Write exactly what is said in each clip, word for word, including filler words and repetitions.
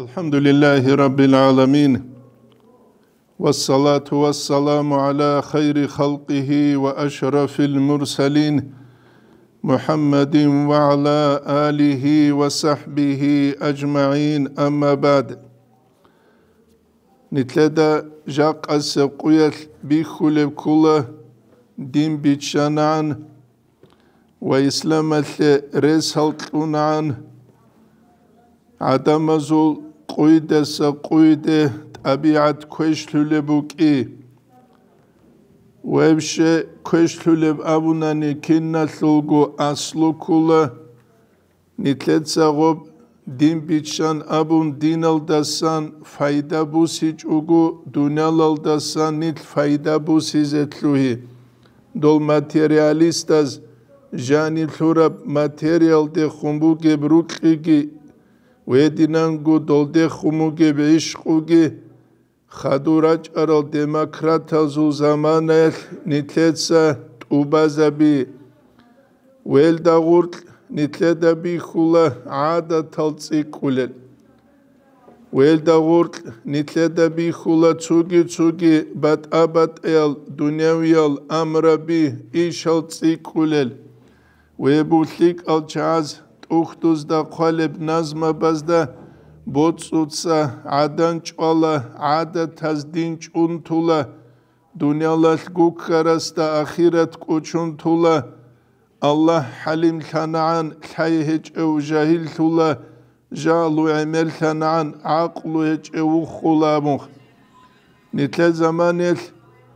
الحمد لله رب العالمين، والصلاة والسلام على خير خلقه وأشرف المرسلين، محمد وعلى آله وصحبه أجمعين، أما بعد. Нилъеда жакъасеб къуялъ бихьулеб ккола, дин биччанагӀан ва исламалъе ресал кьунагӀан, гӀадамазул къуйдаса къуйде тӀабигӀат квешлъулеб букӀи. Вообще квешлъулеб абунани киналъулго аслу ккола, нилъеца гъоб дин биччан абун диналдасан пайда бусичӀого, дуниялалдасан нилъ пайда бусизе лъугьи. Дол материалистаз жаниб лъураб материалдехун бугеб рукьиги, гьединанго долдехун бугеб гӀишкъуги, хадур рачӀарал демократазул заманаялъ нилъеца тӀубазаби. Велда гъуркь нилъеда бихьула гӀадатал цӀикӀкӀулел. Велда гъуркь нилъеда бихьула цуги-цуги батӀа-батӀаял дунявиял амраби ишал цӀикӀкӀулел. Вебу лъикӀал чагӀаз тӀухьдузда хъвалеб назмабазда боцӀуца гӀадан чӀвала, гӀадатаз дин чӀунтула, дуниялалъ гуккарасда ахират кӀучунтула, Аллагь хӀалимлъанагӀан, лъай гьечӀев жагьиллъула, жагьлу гӀемерлъанагӀан, гӀакълу гьечӀев вухула абун. Нилъер заманаялъ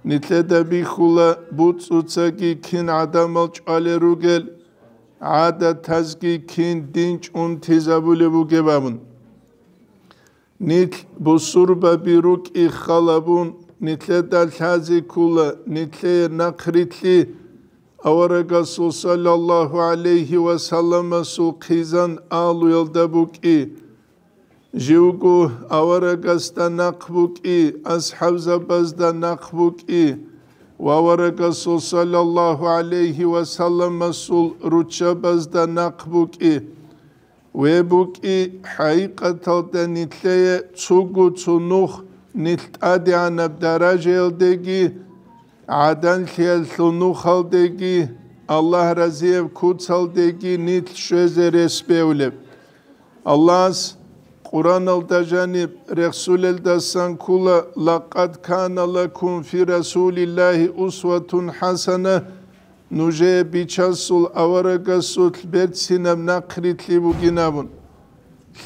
нилъеда бихьула буцӀцӀуцаги кин гӀадамал чӀвалел ругел, гӀадатазги кин дин чӀунтизабулеб бугеб абун. Нилъ бусурбаби рукӀи халабун, нилъеда лъазе ккула нилъее нахърилълъи аварагасул саллаллагьу гӀалайгьи ва салламасул хъизан алуялда букӀи. Живго аварагасда нахъ букӀи, асхӀабзабазда нахъ букӀи ва аварагасул саллаллагьу гӀалайгьи ва салламасул руччабазда нахъ букӀи. Ве букӀи, хӀакъикъаталда нилъее цуго цо нух нилъ тӀадегӀанаб даражаялдеги, гӀаданлъиялъул нухалдеги, Аллагь разияб куцалдеги нилъ щвезе рес бевлеб. Аллагьас Къуръаналда жаниб рехсулелдасан ккула: «Лакъад кана лакум фи Расулиллагьи усватун хӀасана», нужее бичасул аварагасулъ берцинаб нахърилълъи бугин абун.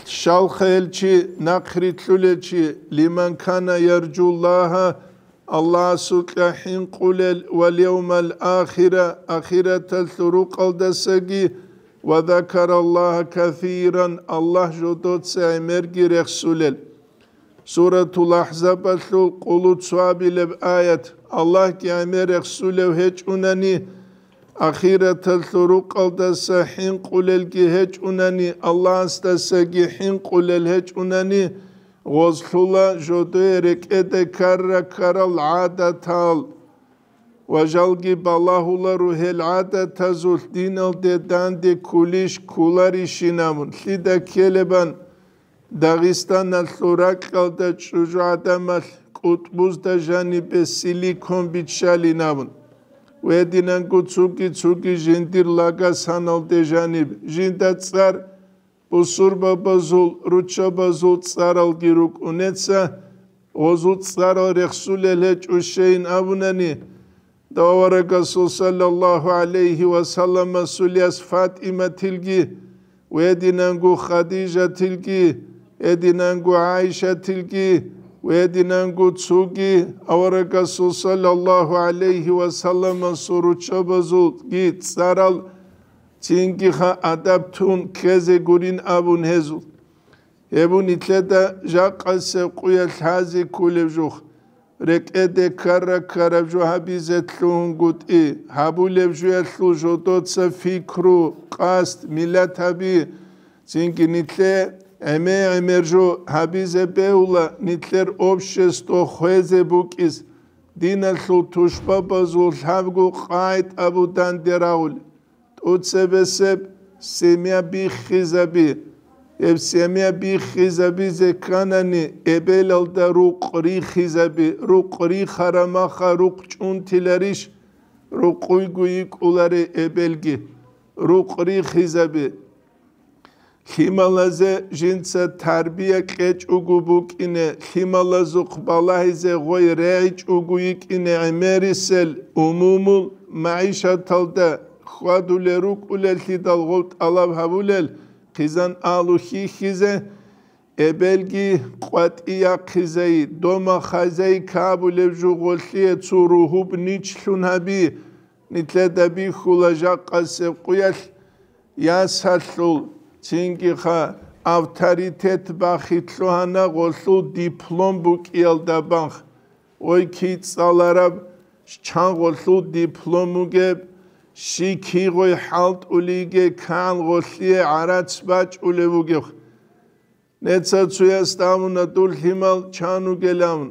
Щалха гьел чи, нахърилълъулел чи, лиман кана яржуллагьа, Аллагьасукьа хӀинкъулел, вал явмал ахира, ахираталъул рукъалдасаги, ва закараллагьа касиран, Аллагь жодоца гӀемерги рехсулел. Суратул Ахзабалъул къулу цоабилеб аят: Аллагьги гӀемер рехсулев гьечӀунани, ахираталъул рукъалдаса хӀинкъулелги гьечӀунани, Аллагьасдасаги хӀинкъулел гьечӀунани, гъозлъула жодое рекӀеде ккара-ккарал гӀадатал. Ва жалги балагьуларо гьел гӀадатазулъ диналде данде ккулищ ккуларищин абун, лъида ккелебан Дагъистаналъул ракьалда чӀужугӀадамалъ кӀутӀбузда жанибе силикон биччалин абун. Гьединанго цуги-цуги жиндир лагасаналде жаниб, жинда цӀар бусурбабазул, руччабазул цӀаралги рукӀунеца, гъозул цӀарал рехсулел гьечӀущейин абунани, Аварагасул саллаллагьу гӀалайгьи ва салламасул яс ФатӀиматилги, гьединанго Хадижатилги, гьединанго ГӀайшатилги, гьединанго цоги аварагасул саллаллагьу гӀалайгьи ва салламасул руччабазулги цӀарал цинги ха адаб тун ккезе гурин абун гьезул. Гьеб нилъеда жакъасеб къуялъ гьази кколеб жух, рекӀеде ккара-ккараб жо гьабизе лъугьунгутӀи, гьабулеб жуялъул жодоца пикру, къасд, миллат гьаби, цинги нилъе гӀемер-гӀемер жо гьабизе бегьула нилъер общество хвезе букӀиз, диналъул тушбабазул лъабго къагӀид абу данде рагъули. ТӀуцебесеб семья биххизаби. Гьеб семья биххизабизе кканани, эбелалда рукъ рихизаби, рукъ рихараб маха рукъ чӀунтиларищ? Рукъуйго йикӀуларей эбелги. Рукъ рихизаби. Лъималазе жинца тарбия кьечӀого букӀине, лъималазухъ балагьизе гъой регӀичӀого йикӀине гӀемерисел умумул магӀишаталда хьвадулел рукӀулеллъидал гъов тӀалаб гьабулел хъизан алу хьихьизе, эбелги къватӀи яхъизай, дома хазяйка абулеб жугъолъие цо ругьуб ничлъун гьаби, нилъеда бихьула жакъасеб къуялъ, ясалъул, цинги-ха авторитет бахи лъугьана гъолъул диплом букӀиялда бахъ. Ой, кицӀалараб, чан гъолъул диплом бугеб, щи кигъой хӀалтӀулиге кан гъолъие гӀарац бачӀулев вугев. Неца цуясда абуна дур лъимал чан вугилан.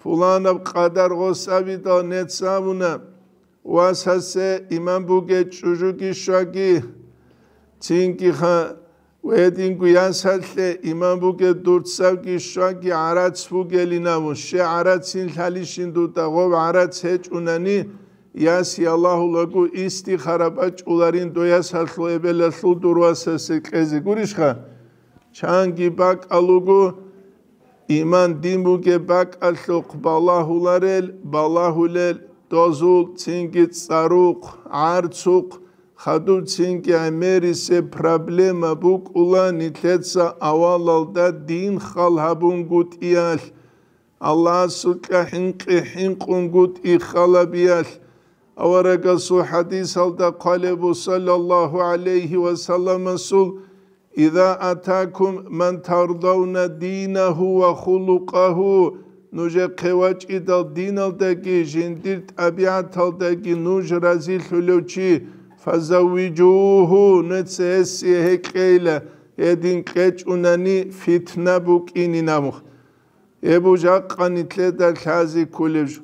Фуланаб къадар гъос абидал нец абуна, васасе иман бугей чӀужуги щваги, цинги-ха гьединго ясалъе иман бугей дурцавги щваги гӀарац бугелин абун, щай гӀарацин лъалищин дуда, гъов гӀарац гьечӀунани, яс ялагьулаго истихара бачӀуларин дой ясалъул эбелалъул дур васасе кьезе гурищха? Чанги бакӀал руго, иман дин бугеб бакӀалъухъ балагьуларел, балагьулел, дозул цинги цӀарухъ, гӀарцухъ, хадуб цинги гӀемерисеб проблема букӀула нилъеца авалалда дин хал гьабунгутӀиялъ, Аллагьасукьа хӀинкъи хӀинкъунгутӀи халабиялъ. Аварагасул хӀадисалда хъвалеб буго, саллаллагьу гӀалайгьи ва салламасул, «Иза атакум ман тардавна динагьу ва хулукъагьу», нужехъе вачӀидал диналдаги жиндир тӀабигӀаталдаги нуж разилъулев чи, «фазаввижугьу», нуца гьесие гьекъейила, гьедин кьечӀунани фитна букӀинин абун. Гьеб жакъа нилъеда лъазе кколеб жо.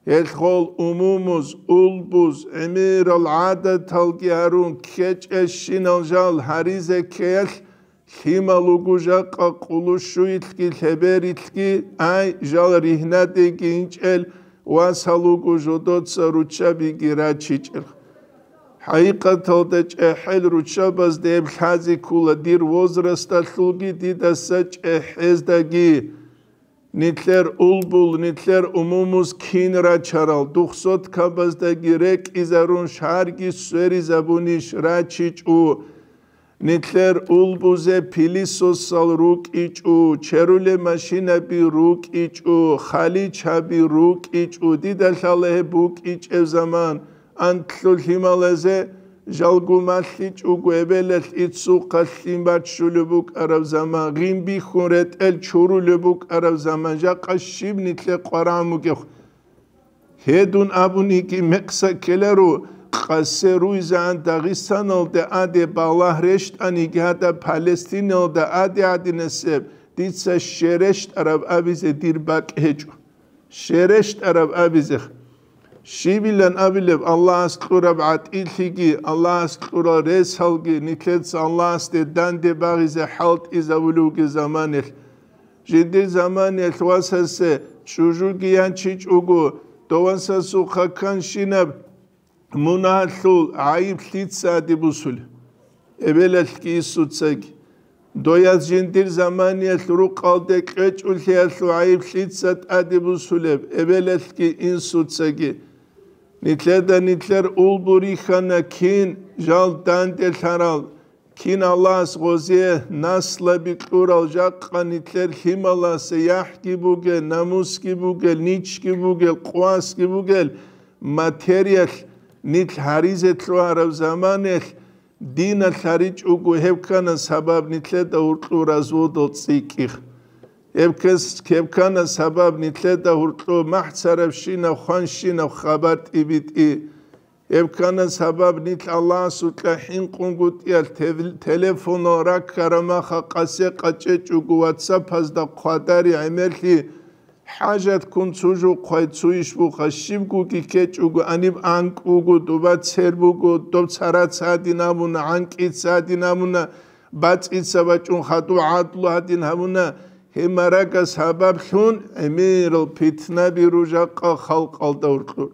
Гьелъ гъол умумуз, улбуз, гӀемерал гӀадаталги гьарун ккечӀещинал жал гьаризе ккеялъ, лъимал руго жакъа къулущуйлъги лъеберилъги, ай, жал ригьнадеги инчӀел васал руго жодоца руччабиги рачичӀел. ХӀакъикъаталда чӀехӀел руччабазда гьеб лъазе ккола дир возрасталъулги дидаса чӀехӀездаги. Нилъер улбул, нилъер умумуз кин рачарал, духъ соткабаздаги рекӀизарун шарги сверизабунищ рачичӀо. Нилъер улбузе пилисосал рукӀичӀо, черулеб машинаби рукӀичӀо, халичаби рукӀичӀо, дида лъала гьеб букӀичӀеб заман. Анлъго лъималазе жалго малъичӀого эбелалъ иццухъа лъим баччулеб букӀараб заман, гъим бихьун ретӀел чурулеб букӀараб заман, жакъа щиб нилъе къварагӀун бугеб? Гьедин абуниги мекъса ккеларо, къасе руйзаан Дагъистаналде аде балагь рещтӀаниги гьадаб Палестиналда аде гьадинасеб дица щерещтӀараб абизе дир бакӀ гьечӀо. ЩерещтӀараб абизех. Щибилан абилеб Аллагьас кьураб гӀатӀилъиги, Аллагьас кьурал ресалги нилъеца Аллагьасде данде багъизе хӀалтӀизабулевги заманелъ. Жиндир заманелъ васасе чӀужуги янчичӀого, дов васасухъа канщинаб мунагьалъул гӀайиб лъица тӀаде бусулеб? Эбелалъги инсуцаги. Дояз жиндир заманиялъ рукъалде кьечӀулъиялъул гӀайиб лъица тӀаде бусулеб? Эбелалъги инсуцаги. Нилъеда нилъер улбу рихьана кин жал данделъарал, кин Аллагьас гъозие наслаби кьурал, жакъа нилъер лъималасе яхӀги бугел, намусги бугел, ничги бугел, къвасги бугел материялъ нилъ гьаризе лъугьараб заманаялъ диналъ гьаричӀого, гьеб ккана сабаб нилъеда гьуркьу разводал цӀикӀкӀих. Гьеб кес-, гьеб ккана сабаб нилъеда гьуркьу махӀцарабщинаб, хванщинаб хабар тӀибитӀи. Гьеб ккана сабаб нилъ Аллагьасукьа хӀинкъунгутӀиялъ тев-, телефонал раккараб маха къасе къачӀечӀого, ватсапазда хъвадари гӀемерлъи, хӀажатккун цо жо хъвай, цо иш буха, щибгоги ккечӀого, аниб анкӀ буго, доба цер буго, доб цараца гьадин абуна, гӀанкӀица гьадин абуна, бацӀица бачӀун хадув гӀадлу гьадин гьабуна, гьеб марага сабаблъун гӀемерал питнаби ружахъа халкъалда гьоркьор.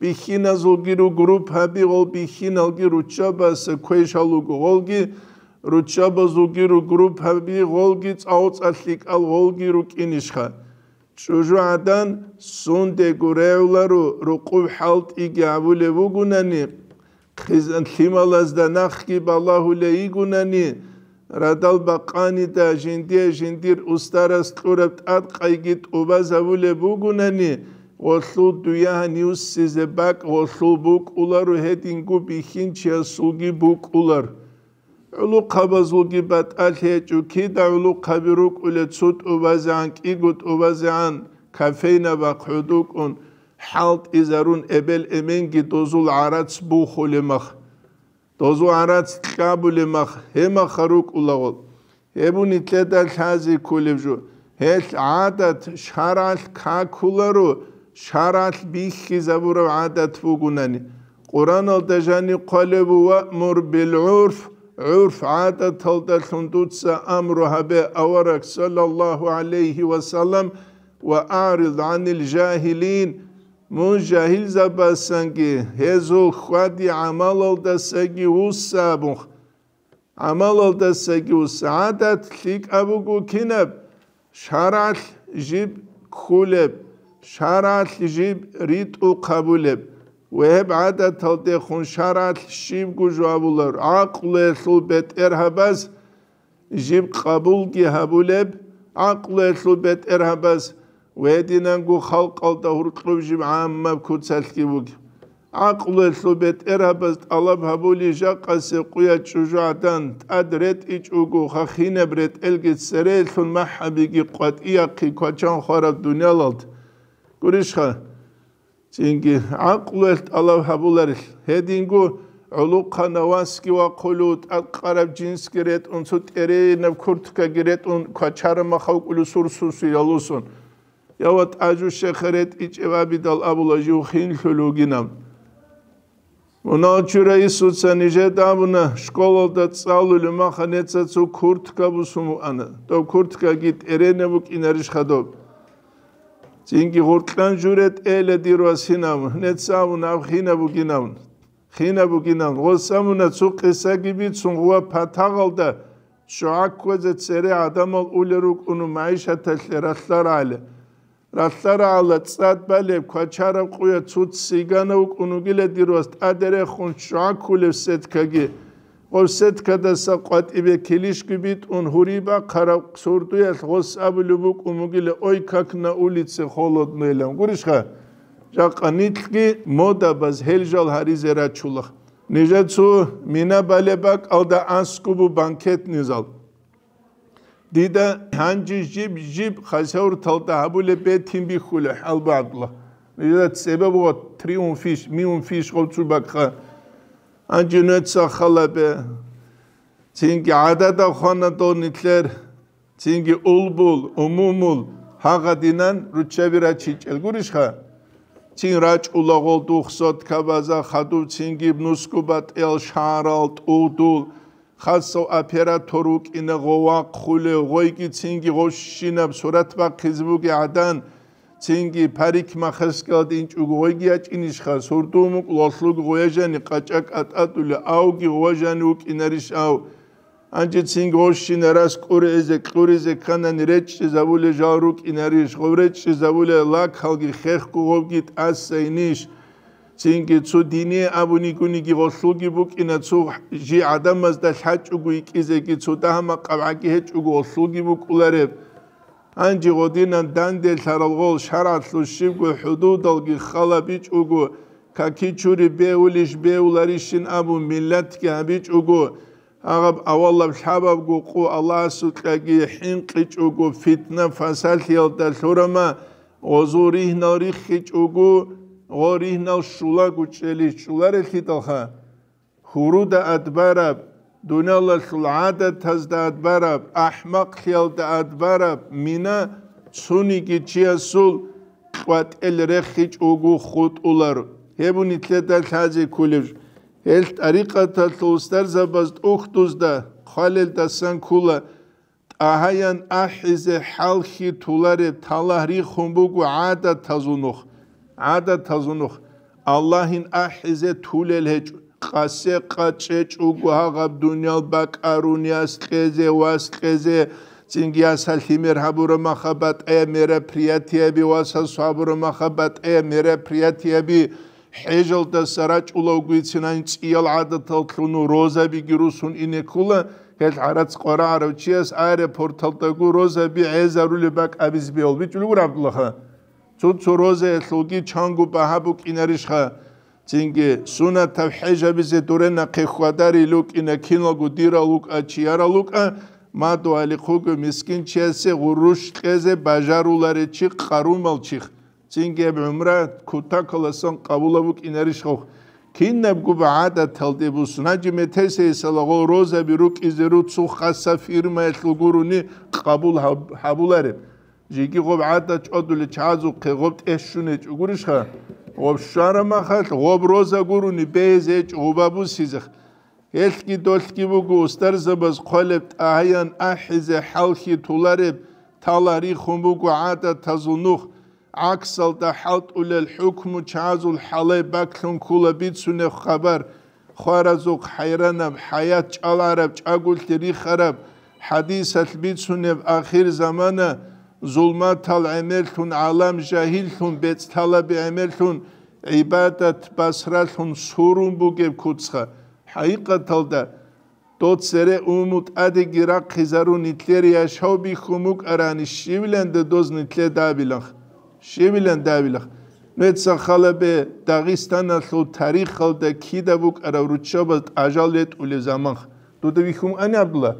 Бихьиназулги руго группаби, гъол бихьиналги руччабаса квешал руго, гъолги руччабазулги руго группаби, гъолги цӀалцӀа лъикӀал гъолги рукӀинищха. ЧӀужугӀадан сундего регӀуларо, рукъуб хӀалтӀиги гьабулеб бугунани, хъизан лъималазда нахги балагьулей йигунани, радал бакъанида жиндие жиндир устарас кьураб тӀадкъайги тӀубазабулеб бугунани, гъолъул дуягьан юссизе бакӀ гъолъул букӀуларо, гьединго бихьинчиясулги букӀулар. ГӀулухъабазулги батӀалъи гьечӀо, кида гӀулухъаби рукӀулел цо тӀубазегӀан, кӀиго тӀубазегӀан, кофейнабахъ гӀодукӀун, хӀалтӀизарун эбел-эменги дозул гӀарац бухулеб мах, дозул гӀарац кьабулеб мах, гьебмаха рукӀулагъул. Гьеб нилъеда лъазе кколеб жо. Гьелъ гӀадат шаргӀалъ какуларо, шаргӀалъ бихьизабураб гӀадат бугунани. Къураналда жаниб хъвалеб: «Ваъмур бил гӀурф», гӀурф гӀадаталдалъун дуца амру гьабе, авараг, саллаллагьу гӀалайгьи ва саллам, «ва аърид гӀанил жагьилин», мун жагьилзабасанги, гьезул хьвади-гӀамалалдасаги вусса абун. ГӀамалалдасаги вусса. ГӀадат лъикӀаб буго кинаб? ШаргӀалъ жиб ккулеб, шаргӀалъ жиб ритӀухъ гьабулеб. Ва гьеб гӀадаталдехун шаргӀалъ щибго жо абулар, гӀакълуялъул бетӀергьабаз жиб къабулги гьабулеб, гӀакълуялъул бетӀергьабаз ва гьединанго халкъалда гьоркьоб жиб гӀаммаб куцалъги бугеб. ГӀакълуялъул бетӀергьабаз тӀалаб гьабули, жакъасе къуя чӀужугӀадан тӀад ретӀичӀого, хахинаб ретӀелги цереялъул махӀабиги къватӀияхъи квачан хвараб дуниялалда. Гурищха? Цинги гӀакълуялъ тӀалаб гьабуларелъ, гьединго гӀолохъанав васги вахъулев, тӀадкъараб жинсги ретӀун, цо тӀеренаб курткаги ретӀун, квачараб махав кӀулев сурсуси ялусун. Я ва тӀажу щехъа ретӀичӀеб абидал абула жив хинлъулев вугинав. Мунагьал чура Исуца нижеда абуна, школалда цӀалулев маха неца цо куртка бусун вуана. Доб курткаги тӀерене букӀинарищха доб? Цинги гъоркьан журе тӀела дир вас гьинав, неца абуна аб хина бугинав. Хина бугинав. Гъос абуна цо къисаги бицун гъува патагъалда ччугӀа кквезе цере гӀадамал улел рукӀуну магӀишаталъе ралълъарагӀале. РалълъарагӀалда цӀад балеб квачараб къуя цуц сигана вукӀун вугила дир вас тӀаде рехун ччугӀа ккулеб сеткаги. Гъоб сеткадаса къватӀибе килищги битӀун гьури бахъараб сурдуялъ гъос абулеб букӀун бугила: «Ой, как на улице холодно», — илан. Гурищха? Жакъа нилъги модабаз гьел жал гьаризе рачула. Нижецо мина балеб бакӀалда аскӀубу банкетный зал. Дида гьанже жиб-жиб хасавурталда гьабулеб бетин бихьула хӀалбагӀдула. Дида цебе буго триумфищ, миумфищ гъовцу бакӀха. Гьанже нуца халабе. Цинги гӀадада хвана дов нилъер. Цинги улбул, умумул, гьагъадинан руччаби рачичӀел гурищха? Цин рачӀула гъол дух соткабаза хадуб, цинги нусгу батӀиял шагьарал тӀугьдул, хасав оператор вукӀина гъов вахъулев, гъойги цинги гъовщинаб сурат бахъизе бугей гӀадан, цинги парикмахерскиялда инчӀого гъойги ячӀинищха, сурдумукӀ лалъуг гъоя жани къачӀа кӀатӀатӀули, авги гъова жани вукӀинарищ ав? Гьанже цинги гъовщинарас кӀуризе, кьуризе кканани речӀчӀизабулел жал рукӀинарищ, гъов речӀчӀизабулел лакалги хехго гъовги тӀасайнищ? Цинги цо дине абунигуниги гъолъулги букӀина, цо жи гӀадамазда лъачӀого икӀизеги, цо дагьа-макъаб гӀаги гьечӀого гъолъулги букӀулареб. Гьанже гъодинан данделъарал гъол шаргӀалъул щибго хӀудудалги хала бичӀого, каки чури беулищ беуларищин абун миллатги гьабичӀого, гьагъаб авалаб лъабабго къо Аллагьасукьаги хӀинкъичӀого, фитна-фасалъиялда лъурама, гъозул ригьнал риххичӀого, гъо ригьнал щулаго чӀелищ чӀуларелъидалха, гьуруда адбараб, дуниялалъул гӀадатазда адбараб, ахӀмакълъиялда адбараб мина цониги чиясул къватӀел рехичӀого хутӀулар. Гьеб нилъеда лъазе кколеб жо. Гьел тӀарикъаталъул устарзабаз тӀухьдузда хвалелдасан ккола, тӀагьаян ахӀизе хӀалхьи тулареб талагь рихун буго гӀадатазул нух. ГӀадатазул нух. Аллагьин ахӀизе тулел гьечӀо. Къасе къачӀечӀого гьагъаб дуниял бакӀарун яс кьезе, вас кьезе, цинги ясалъи мер гьабураб маха батӀаяб мероприятияби, васас гьабураб маха батӀаяб мероприятияби, хӀежалдаса рачӀулавгойцинан цӀиял гӀадатал лъуну розабиги русун ине ккола, гьел гӀарац къварагӀарав чияс аэропорталдаго розаби гӀезарулеб бакӀ абизе бегьул бичӀулев гуро, ГӀабдуллаха. Цо-цо розаялъулги чанго багьа букӀинарищха? Цинги сунатаб хӀежабизе дуре нахъе хьвадарил рукӀина киналго дирал рукӀа, чиярал рукӀа, мадугьалихъуго мискин чиясе гъурущ кьезе бажаруларечи къарумалчихъ. Цинги гьеб гӀумра кутакаласан къабулаб букӀинарищ гъов? Кинабго гӀадаталде бусун, гьанже метесейсалаго розаби рукӀизе руцу хаса фирмаялъул гурони къабул гьаб-, гьабулареб. Жеги гъоб гӀадат чӀвадулел чагӀазухъе гъоб тӀе щунечӀо гурищха? Гъоб щвараб махалъ гъоб роза гурони бегьизечӀо гъоба бусизех. Гьелъги долъги буго устарзабаз хъвалеб тӀагьаян ахӀизе хӀалхьи тулареб, тала рихун буго гӀадатазул нух, гӀаксалда хӀалтӀулел хӀукму чагӀазул хӀалай баклъун ккола бицунеб хабар, хваразухъ хӀайранаб, хӀаят чӀалгӀараб, чӀаголъи рихараб, хӀадисалъ бицунеб ахир замана, зулматал гӀемерлъун, гӀалам жагьиллъун, бецӀ лъалаби гӀемерлъун, гӀибадат басралъун сурун бугеб куцха. ХӀакъикъаталда, дов цере умумул тӀадеги рахъизарун нилъер яшав бихьун букӀарани, щивиланде доз нилъеда абиланха? Щивиланде абиланха? Нужеца халабе Дагъистаналъул тарихалда кида букӀараб руччабаз тӀажал ретӀулеб заманха. Дуда бихьун ани, ГӀабдулла?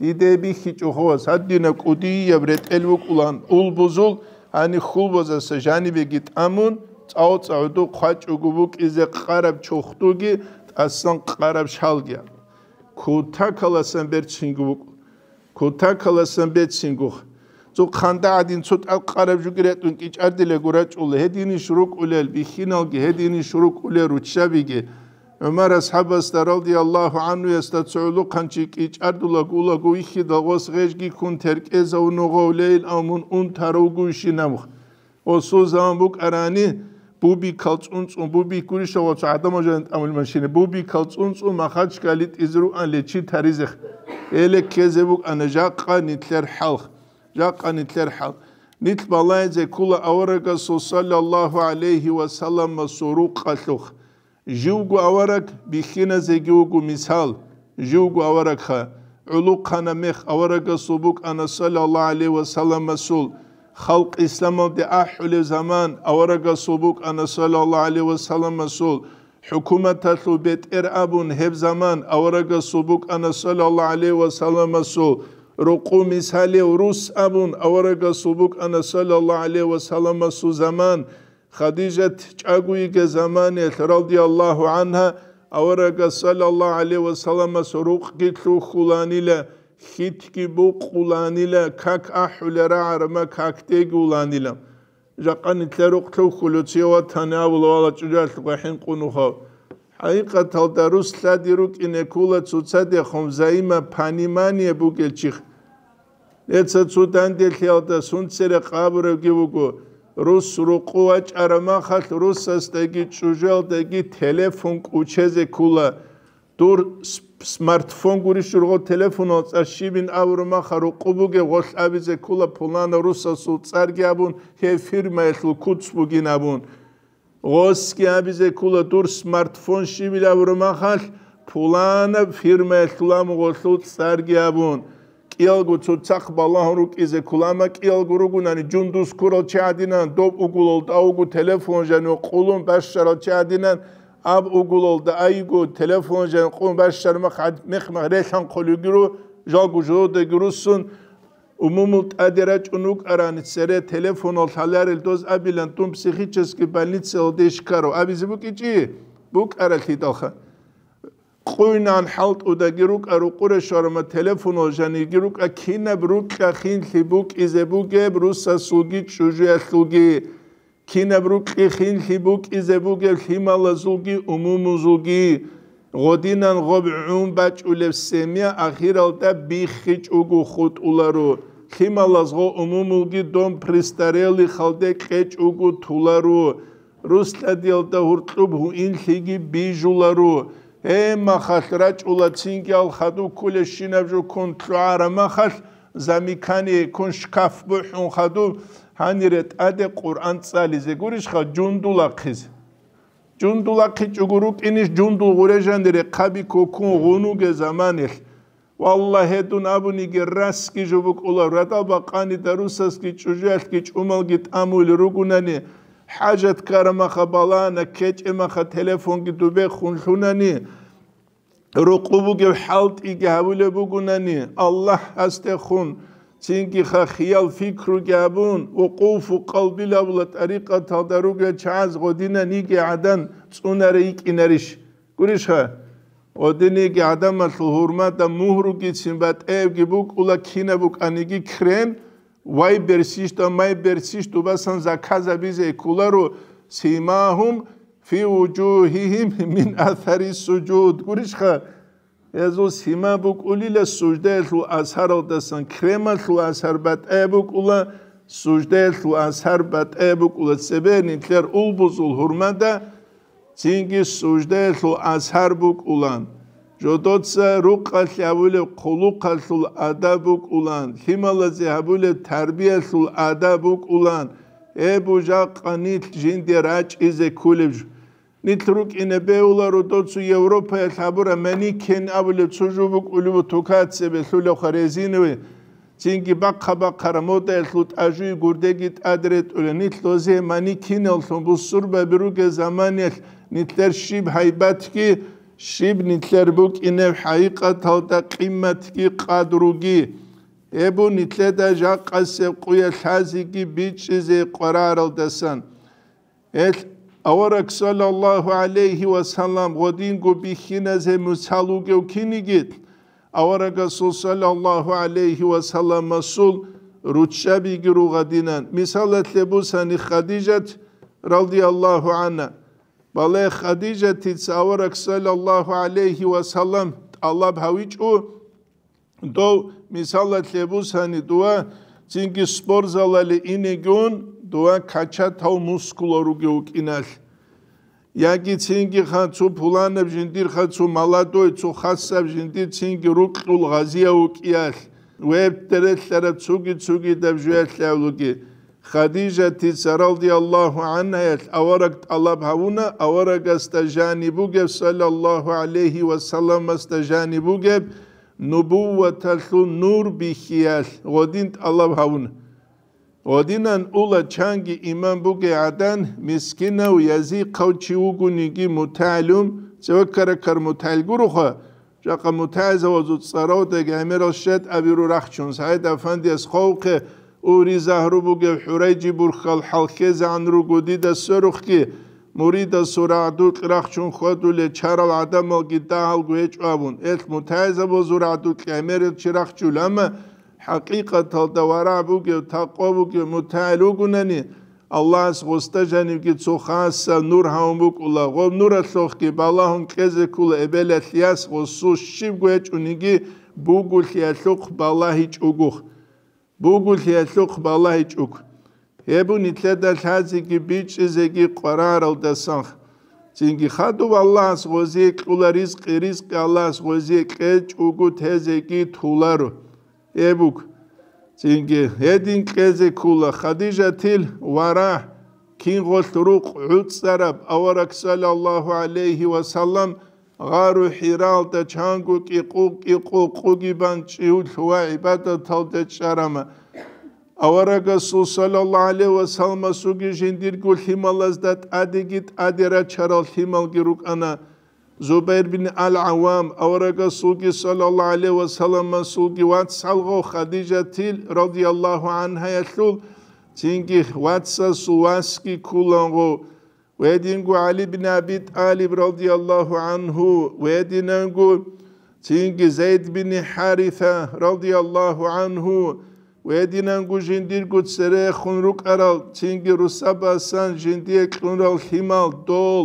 Диде бихьичӀо, ховас, гьадинаб кӀудияб ретӀел букӀулан улбузул, гьани хьулбазаса жанибеги тӀамун, цӀав-цӀагӀуду хъвачӀого букӀизе къараб чохтуги тӀасан къараб шалги. Кутакаласан берцинго букӀу. Кутакаласан бецинго. Цо хъанда гӀадин цо тӀад къараб жуги ретӀун кӀичӀардилаго рачӀула, гьединищ рукӀулел бихьиналги, гьединищ рукӀулел руччабиги. ГӀумар асхӀабасда, радияллагьу гӀанхуясда, цо гӀулухъанчи кӀичӀардулаго улаго вихьидал гъос гъежги ккун теркӀезавун вугъав лейил, амун унтарав вугойищин абух. Гъосул заман букӀарани, бубикал цӀунцӀун, бубик гурищ гъоцо гӀадамал жанин тӀамул машина, бубикал цӀунцӀун Махачкали тӀизе руан лечи таризех. Гьеле ккезе букӀана жакъа нилъер хӀалх. Жакъа нилъер хӀал. Нилъ балагьизе ккола аварагасул саллаллагьу гӀалайгьи ва салламасул рукъалъухъ. Живго авараг бихьиназеги вуго мисал. Живго аварагха, гӀулухъана мех аварагасул букӀана саллаллагьу гӀалайгьи ва салламасул. Халкъ исламалде ахӀулев заман аварагасул букӀана саллаллагьу гӀалайгьи ва салламасул. ХӀукуматалъул бетӀер абун гьеб заман аварагасул букӀана саллаллагьу гӀалайгьи ва салламасул. Рукъу мисалев рус абун аварагасул букӀана саллаллагьу гӀалайгьи ва салламасул заман. Хадижат чӀаго йига заманиялъ, радияллагьу гӀанхӀа, аварагас саллаллагьу гӀалайгьи ва салламас рукъги лъухьуланила, хьитги букъуланила, как ахӀулел рагӀараб ма какдеги уланила. Жакъа нилъер рукъ лъухьулев чи ватани абула, вала чӀужалъухъа хӀинкъун вухав. ХӀакъикъаталда рус лъади рукӀине ккола цоцадехун взаимопонимание бугел чихъ. Эца цо данделъиялда сунцере къабуревги вуго, рус рукъу вачӀараб махалъ русасдаги чӀужуялдаги телефон кӀучезе ккола. Дур с-, смартфон гурищ ургъо телефонал цӀар щибин абураб маха рукъу бугеб гъолъ абизе ккола пуланав русасул цӀарги абун, гьев фирмаялъул куц бугин абун. Гъосги абизе ккола дур смартфон щибил абураб махалъ, пуланаб фирмаялъула мугъалъул цӀарги абун. КӀиялго цоцахъ балагьун рукӀизе ккола, амма кӀиялго ругунани, жундуз ккурал чи гьадинан, доб угулалда авго телефон жанив къулун бащарал чи гьадинан, аб угулалда айго телефон жанив къулун бащар мах гьад-, мех-мах релъан хъулигиру, жалго жодеги руссун, Умумул тӀаде рачӀун вукӀарани цере телефонал лъаларел доз абилан, дун психический больницаялде щкарав абизе букӀичӀи? БукӀаралъидалха. Къуйнан хӀалтӀудаги рукӀа, рукъуре щварама телефонал жаниги рукӀа, кинаб рукьа хинлъи букӀизе бугеб русасулги чӀужуялъулги. Кинаб рукьи хинлъи букӀизе бугеб лъималазулги умумузулги. Гъодинан гъоб гӀун бачӀулеб семья ахиралда биххичӀого хутӀуларо, лъималаз гъо умумулги дом престареллихалде кьечӀого туларо, русладиялда гьуркьуб гьуинлъиги бижуларо. Гьеб махалъ рачӀула цинги ал хадуб кколебщинаб жо ккун лъугӀараб махалъ, замикание ккун шкаф бухӀун хадуб, гьанире тӀаде Къуръан цӀализе гурищха жундул ахъизе? Жундул ахъичӀого рукӀинищ жундул гъуре жанире хъаби кокун гъунуге заманилъ? Валлагь, гьедун абуниги, расги жо букӀула, радал бакъани дарусасги чӀужуялъги чӀумалги тӀамулел ругунани, хӀажат ккарамаха балана, ккечӀемаха телефонги дубехун лъунани, рукъу бугеб хӀалтӀиги гьабулеб бугунани, Аллагьасдехун, цинги ха хиял-пикруги гьабун, вукъуфу къалбил абула тӀарикъаталда ругел чагӀаз гъодинаниги гӀадан цӀунаре йикӀинарищ? Гурищха, гъодиниги гӀадамалъул гьурмада мугьругицин батӀаябги букӀула, кинаб букӀаниги крем, вай берсищ да май берсищ дубасан заказабизе кколаро, симагьум фи вужугьигьим мин асари сужуд. Гурищха, гьезул сима букӀулила суждаялъул асаралдасан, кремалъул асар батӀаяб букӀула, суждаялъул асар батӀаяб букӀула, цебе нилъер улбузул гьурмада цинги суждаялъул асар букӀулан, жодоца рукъалъе гьабулеб хъулухъалъул адаб букӀулан, лъималазе гьабулеб тарбиялъул адаб букӀулан, гьеб жакъа нилъ жинде рачӀизе кколеб жо. Нилъ рукӀине бегьуларо доцу Европаялъ гьабураб манекен абулеб цо жо букӀулеб бу, тукацебе лъулевха резиновый, цинги бахъа-бахъараб модаялъул тӀажуи гурдеги тӀад ретӀула. Нилъ дозе манекиналлъун бусурбаби ругел заманиялъ нилъер щиб гьайбатги, щиб нилъер букӀинеб хӀакъикъаталда къиматги къадруги. Гьеб бу нилъеда жакъасеб къуялъ лъазеги бичӀчӀизе къвараралдасан. Гьел авараг саллаллаху гӀалайхи ва саллам гъодинго бихьиназе мусал вугев киниги, аварагасул саллаллаху гӀалайхи ва салламасул руччабиги ругъадинан. Мисалалъе бусани Хадижат радияллаху гӀанха. Бале, Хадижатица авараг саллаллаху гӀалайхи ва саллам тӀалаб гьавичӀо, дов, мисалалъе бусани, дова цинги спортзалале инегун, дова качатал мускулал ругев вукӀиналъ, яги цинги ха цо пуланаб жиндир ха цо молодой, цо хасаб жиндир цинги рукьул гъазияв вукӀиялъ, веб терелъараб цуги-цугидаб жуялъ гьавлуги. Хадижатица радияллаху гӀанхаялъ авараг тӀалаб гьавуна, аварагасда жаниб бугеб, саллаллаху гӀалайхи ва салламасда жаниб бугеб, нубувваталъул нур бихьиялъ гъодин тӀалаб гьавуна. Гъодинан ула чанги иман бугей гӀадан, мискинав, язихъав чи вугониги мутагӀилум, цевеккараккар мутагӀил гуроха, жакъа мутагӀизавазул цӀаравдаги гӀемерал щед абиру рахчун, СагӀид Афандияс хъвавухъе, ури загьру бугев ХӀурайжи бурхьал хӀалхьезегӀан руго дида сверухъги, муридасул рагӀдукь рахчун хьвадулел чарал гӀадамалги дагьалго гьечӀо абун, элъ мутагӀизабазул рагӀдукь гӀемерал чи рахчул, амма хӀакъикъаталда варагӀ бугев, такъва бугев мутагӀил вугунани, Аллагьас гъосда жанивги цо хасаб нур гьавун букӀула, гъоб нуралъухъги балагьун кьезе ккула эбелалъ яс гъосул щибго гьечӀониги бугулъиялъухъ балагьичӀого. Бугулъиялъухъ балагьичӀого. Гьеб бу нилъеда лъазеги бичӀчӀизеги къвараралдасан. Цинги хадуб Аллагьас гъозие кьула ризкъи, ризкъи Аллагьас гъозие кьечӀого тезеги туларо. Гьеб буго. Цинги гьедин кьезе ккула Хадижатил варагь, кингъолъ рукъ гӀуцӀараб авараг саллаллаху гӀалайхи ва саллам гъару ХӀиралда чанго кӀикъу-кӀикъу къуги бан чӀиулъ ва гӀибадаталде чӀарама. Аварагасул саллаллаху гӀалайхи ва салламасулги жиндирго лъималазда тӀадеги тӀаде рачарал лъималги рукӀана. Зубайр бин ал-ГӀаввам, аварагасулги саллаллаху гӀалайхи ва салламасулги вацалгъав Хадижатил радияллаху гӀанхаялъул, цинги вацасул васги ккулангъо, ва гьединго ГӀали бин Аби ТӀалиб радияллаху гӀанху, ва гьединанго цинги Зайд бин ХӀариса радияллаху гӀанху, ва гьединанго жиндирго церехун рукӀарал, цинги русабасан жиндие кьунрал лъимал дол,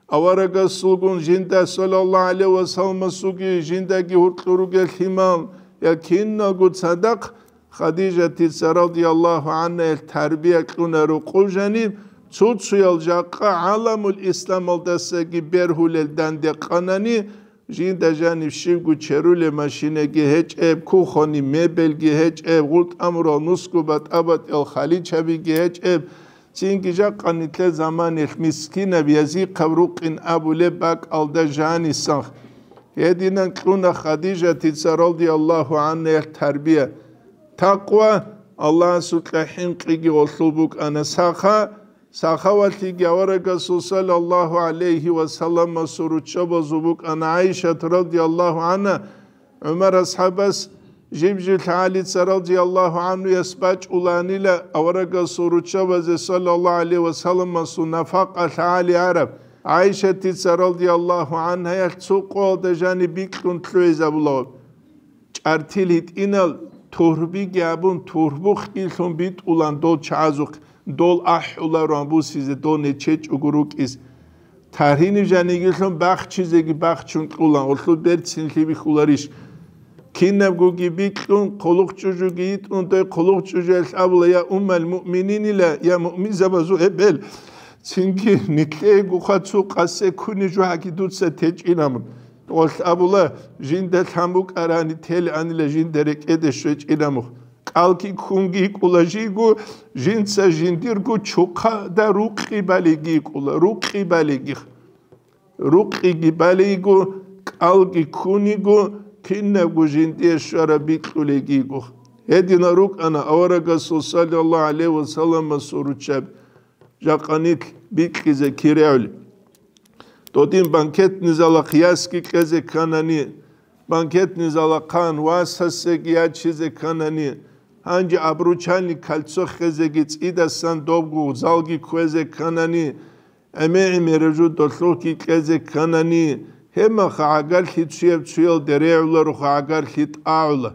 Аварагасулгун жинда, саллаллагьу гӀалайгьи ва салламасулги жиндаги гьуркьур ругел лъимал, я киналго цадахъ Хадижатица, радияллагьу гӀангьа, ил тарбия кьуна рукъов жаниб, цо-цоял жакъа гӀаламул исламалдасаги бергьулел данде къанани, жинда жаниб щибго черулеб машинаги гьечӀеб, кухонный мебельги гьечӀеб, гъутӀамурал нусго батӀа-батӀиял халичабиги гьечӀеб, цинги жакъа нилъер заманалъ мискинаб язихъаб рукъин абулеб бакӀалда жанисанха. Гьединан кьуна Хадижатица, радияллагьу гӀангьа, ил тарбия. Такъва, Аллагьасукьа хӀинкъиги гъолъул букӀана саха, сахавалъиги аварагасул, саллаллагьу гӀалайгьи ва салламасул, руччабазул букӀана ГӀайшат, радияллагьу гӀангьа, ГӀумар асхӀабас жиб-жиб лъагӀалица, радияллагьу гӀангьуяс, бачӀуланила аварагасул руччабазе, саллаллагьу гӀалайгьи ва салламасул, нафакъа лъагӀали гьараб. ГӀайшатица, радияллагьу гӀангьаялъ, цо къоялда жаниб бикьун лъугӀизабула. ЧӀартил гьитӀинал турбиги абун, турбухъ илъун битӀулан дол чагӀазухъ, дол ахӀулароан бусизе, дол нечечӀого рукӀиз. Таргьиниб жанигилъун бахчизеги бахчун кьулан, гъолъул берцин лъибихьуларищ? Кинабгоги бикьун, хъулухъ чӀужуги йитӀун, дой хъулухъ чӀужуялъ абула: «Я уммал муъмининила, я муъминзабазул эбел, цинги нилъеегоха цо къасе куни жугьаги дуца течӀинамун». Гъолъ абула: «Жинда лъан букӀарани теланила, жинда рекӀеде щвечӀинамух». КӀалги ккунги йикӀула жийго, жинца жиндирго чухъада рукъи балиги йикӀула, рукъи балигих. Рукъиги балиго, кӀалги ккуниго, кинабго жиндие щвараб бикьулегиго. Гьединал рукӀана аварагасул, саллаллагьу гӀалайгьи ва салламасул, руччаби. Жакъа нилъ бикьизе киреули. Додин банкетный залахъ ясги кьезе кканани, банкетный залахъан васасеги ячизе кканани, гьанже обручальный кольцо хезеги цӀидасан добго залги кквезе кканани, гӀемер-гӀемераб жо долъухъги кьезе кканани, гьебмаха гӀагарлъи цуяб цуялде регӀулароха гӀагарлъи тӀагӀула.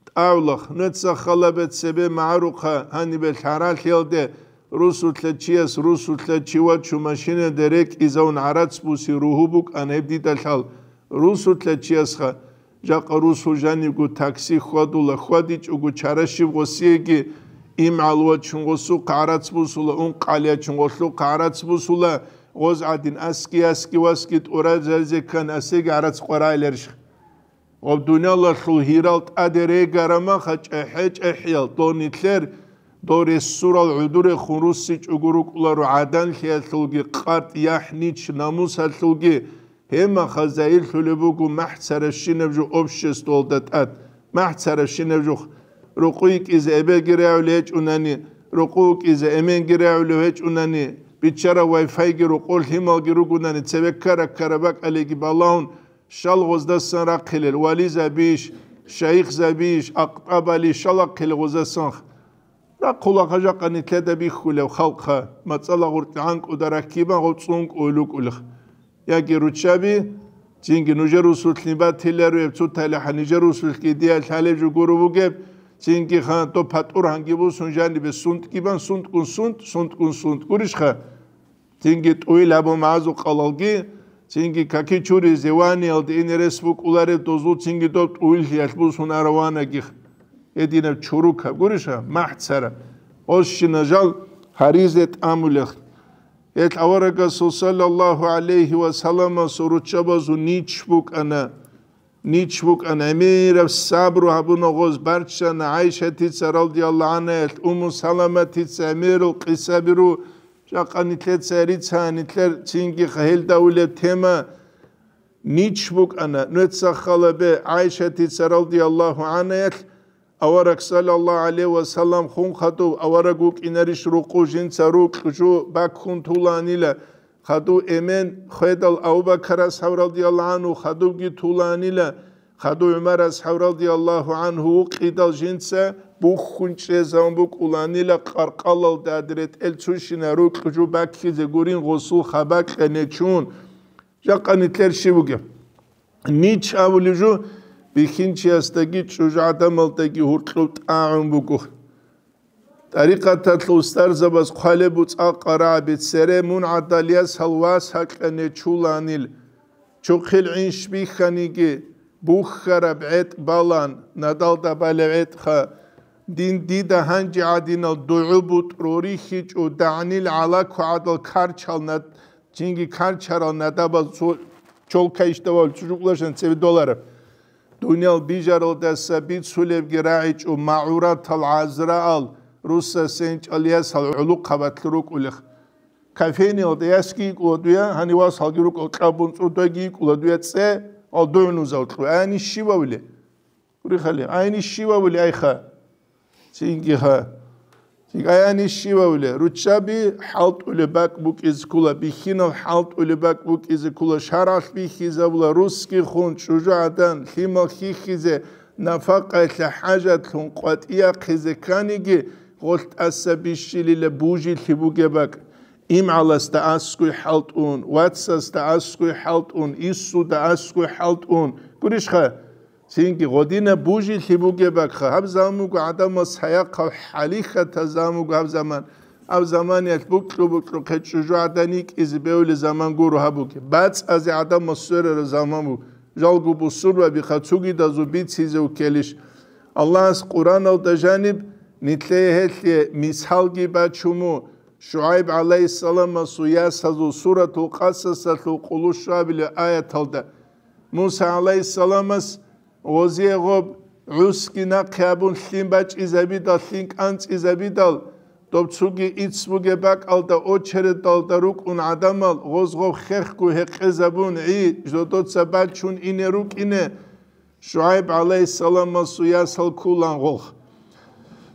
ТӀагӀулахъ, нуца халабе цебе магӀарухъа гьанибе лъаралъиялде, русулъа чияс русулъа чи вачун машинаде рекӀизавун гӀарац буси ругьу букӀана гьеб дида лъал. Русулъа чиясха, жакъа русул жанибго такси хьвадула, хьвадичӀого чара щиб гъосиеги, имгӀал вачун гъосухъ гӀарац бусула, ункъгӀал ячун гъолъухъ гӀарац бусула, гъоз гӀадин аски-аски васги тӀуразаризе ккан асеги гӀарац къварагӀиларищ? Гъаб дуниялалъул гьирал тӀаде регараб маха чӀехӀе-чӀехӀиял дол нилъер, дол ресурал гӀодорехун руссичӀого рукӀуларо гӀаданлъиялъулги, къатӀ, яхӀ, нич, намусалъулги. Гьебмаха загьирлъулеб буго махӀцарабщинаб жо обществоялда тӀад, махӀцарабщинаб жо. Рукъу йикӀизе эбелги регӀулев гьечӀунани, рукъу вукӀизе эменги регӀулев гьечӀунани, биччараб вай-файги рукъу лъималги ругунани, цебе ккара-ккара бакӀалеги балагьун, щал гъоздасан рахъилел, вализабийищ, шайихзабийищ, акътӀабали щал рахъилел гъоздасанха? Рахъулаха жакъа нилъеда бихьулев халкъха, мацӀала гъуркьгӀан кӀуда рахьги бан гъов цӀун кӀуй лукӀулех. Яги руччаби, цинги нужер русулъни батиларуеб, цуталихӀа нижер русулъги дия лъалеб жо гуро бугеб, цинги хан доб патӀур гьанги бусун жанибе сунтӀги бан, сунтӀгун сунтӀ, сунтӀгун сунтӀ. Гурищха? Цинги тӀуйил абу магӀазукъалалги, цинги каки чуризе ваниялде ине рес букӀулареб дозул цинги доб тӀуйилъиялъ бусун араванагих. Гьединаб чурукаб, гуриша, махӀцара. Гъосщина жал гьаризе тӀамулех. Гьел аварагасул, саллаллагьу гӀалайгьи ва салламасул, руччабазул нич букӀана. Нич букӀана, гӀемераб сабру гьабуна гъоз, барччана ГӀайшатица, радияллагьу гӀангьаялъ, Умму Саламатица, гӀемерал къисаби ру, жакъа нилъеца рица, нилъер цинги гьелда улеб тема. Нич букӀана, нуца халабе ГӀайшатица, радияллагьу гӀангьаялъ, авараг, саллаллагьу гӀалайгьи ва саллам, хун хадув авараг вукӀинарищ рукъу жинца рукь жу баккун туланила, хадув эмен хведал Абу-Бакар асхӀаб, радияллагьу гӀангьу, хадувги туланила, хадув ГӀумар асхӀаб, радияллагьу гӀангьу, вукъидал жинца бухьун чӀезавун букӀуланила къаркъалалда, ретӀел цущина рукь жу баккизе гурин гъосул хабакьа нечун. Жакъа нилъер щиб бугеб? Нич абулеб жо бихьинчиясдаги чӀужугӀадамалдаги гьуркьуб тӀагӀун буго. ТӀарикъаталъул устарзабаз хъвалеб буцӀа къарагӀаби цере мун гӀадал ясал вас гьакьа нечуланил. Чухъил гӀинш бихьаниги, бухьараб гӀетӀ балан, надалда балев гӀетӀха. Дин дида гьанже гӀадинал дугӀу бутӀру рихьичӀо, дагӀнил гӀалаку гӀадал карчал над-, цинги карчарал надабаз цо-, чолка ишдавал чӀужуклъашан цебе долараб. Дуниял бижаралдаса бицулебги рагӀичӀо, магӀуратал гӀазраал руссасенчӀал ясал гӀулухъабатлъи рукӀулех. Кофейниялда ясги йикӀула дуя, гьанив васалги рукӀал кьабун цӀудайги йикӀула дуя цӀе, ал дугӀнузал кьу. Ани щивавли? Гурихали, айни щивавли айха? Цинги ха. Цинги аяни щивавли? Руччаби хӀалтӀулеб бакӀ букӀизе ккула, бихьинал хӀалтӀулеб бакӀ букӀизе ккула, шаргӀалъ бихьизабула, русги хун, чӀужугӀадан, лъимал хьихьизе, нафакъаялъе хӀажатлъун къватӀияхъизе кканиги, гъолъ тӀаса бищилила бужилъи бугеб бакӀ. ИмгӀаласда аскуй хӀалтӀун, вацасда аскуй хӀалтӀун, иссуда аскуй хӀалтӀун. Гурищха? Цинги гъодина бужилъи бугеб бакӀха. Гьаб заман буго гӀадамал саяхъав хӀалихьатал заман буго гьаб заман. Гьаб заманиялъ букьу-букьухъе чӀужугӀадан йикӀизе бевли заман гуро гьаб бугеб. БацӀазе гӀадамал сверараб заман буго. Жалго бусурбабиха цугидазул бицизе уккелищ? Аллагьас Къураналда жаниб нилъее гьелъие мисалги бачун буго. ШугӀайб гӀалайгьиссаламасул ясазул Суратул Къасасалъул къулущуабилеб аяталда Муса гӀалайгьиссаламас гъозие гъоб гӀусги нахъе абун лъим бачӀизабидал, лъим кӀанцӀизабидал, доб цуги ицц бугеб бакӀалда очередалда рукӀун гӀадамал гъоз гъоб хехго гьекъезабун гӀи жодоца бачун ине рукӀине, ШугӀайб гӀалайгьиссаламасул ясал ккулан гъолх.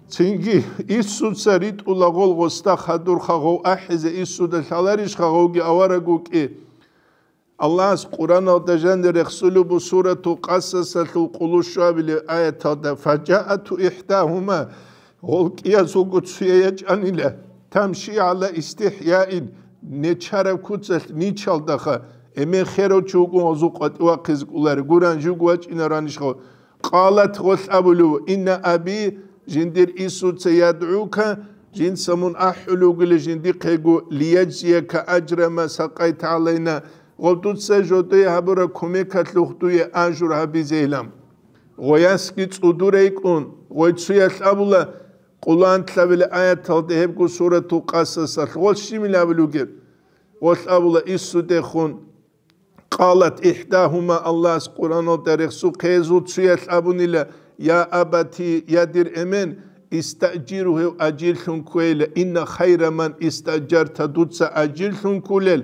Цинги иссуца ритӀула гъол гъосда хадурха гъов ахӀизе иссуда лъаларищха гъовги авараг вукӀи? Аллагьас Къураналда жанир рехсулеб буго Суратул Къасасалъул къулущуабилеб аяталда: «Фажаату ихӀдагьума», гъол кӀиязулго цуя ячӀанила, «тамши гӀала истихӀяин», нечараб куцалъ ничалдаха, эмен херав чи вукӀун гъозул къватӀивахъизе кӀолари, гуран жуг вачӀинаранищ гъов? Къалат, гъолъ абулев: «Инна аби», жиндир иссуца, «ядгӀука», жинца мун ахӀулев вугила жиндихъего, «лияджзияка аджра ма сакъайта гӀалайна», гъоб дуца жодое гьабураб кумекалъухъ дуе ажур гьабизейилан. Гъоясги цӀудур рейкӀун, гъой цуялъ абула, Къулан лъабила аяталда гьебго Суратул Къасасалъ гъол щибил абулев вугеб? Гъолъ абула иссудехун. Къалат ихӀдагьума, Аллагьас Къураналда рехсухъе гьезул цуялъ абунила: «Я абати, я дир эмен, истаъжиру, гьев ажирлъун кквейила, инна хайра ман истаъжарта, дуца ажирлъун ккулел».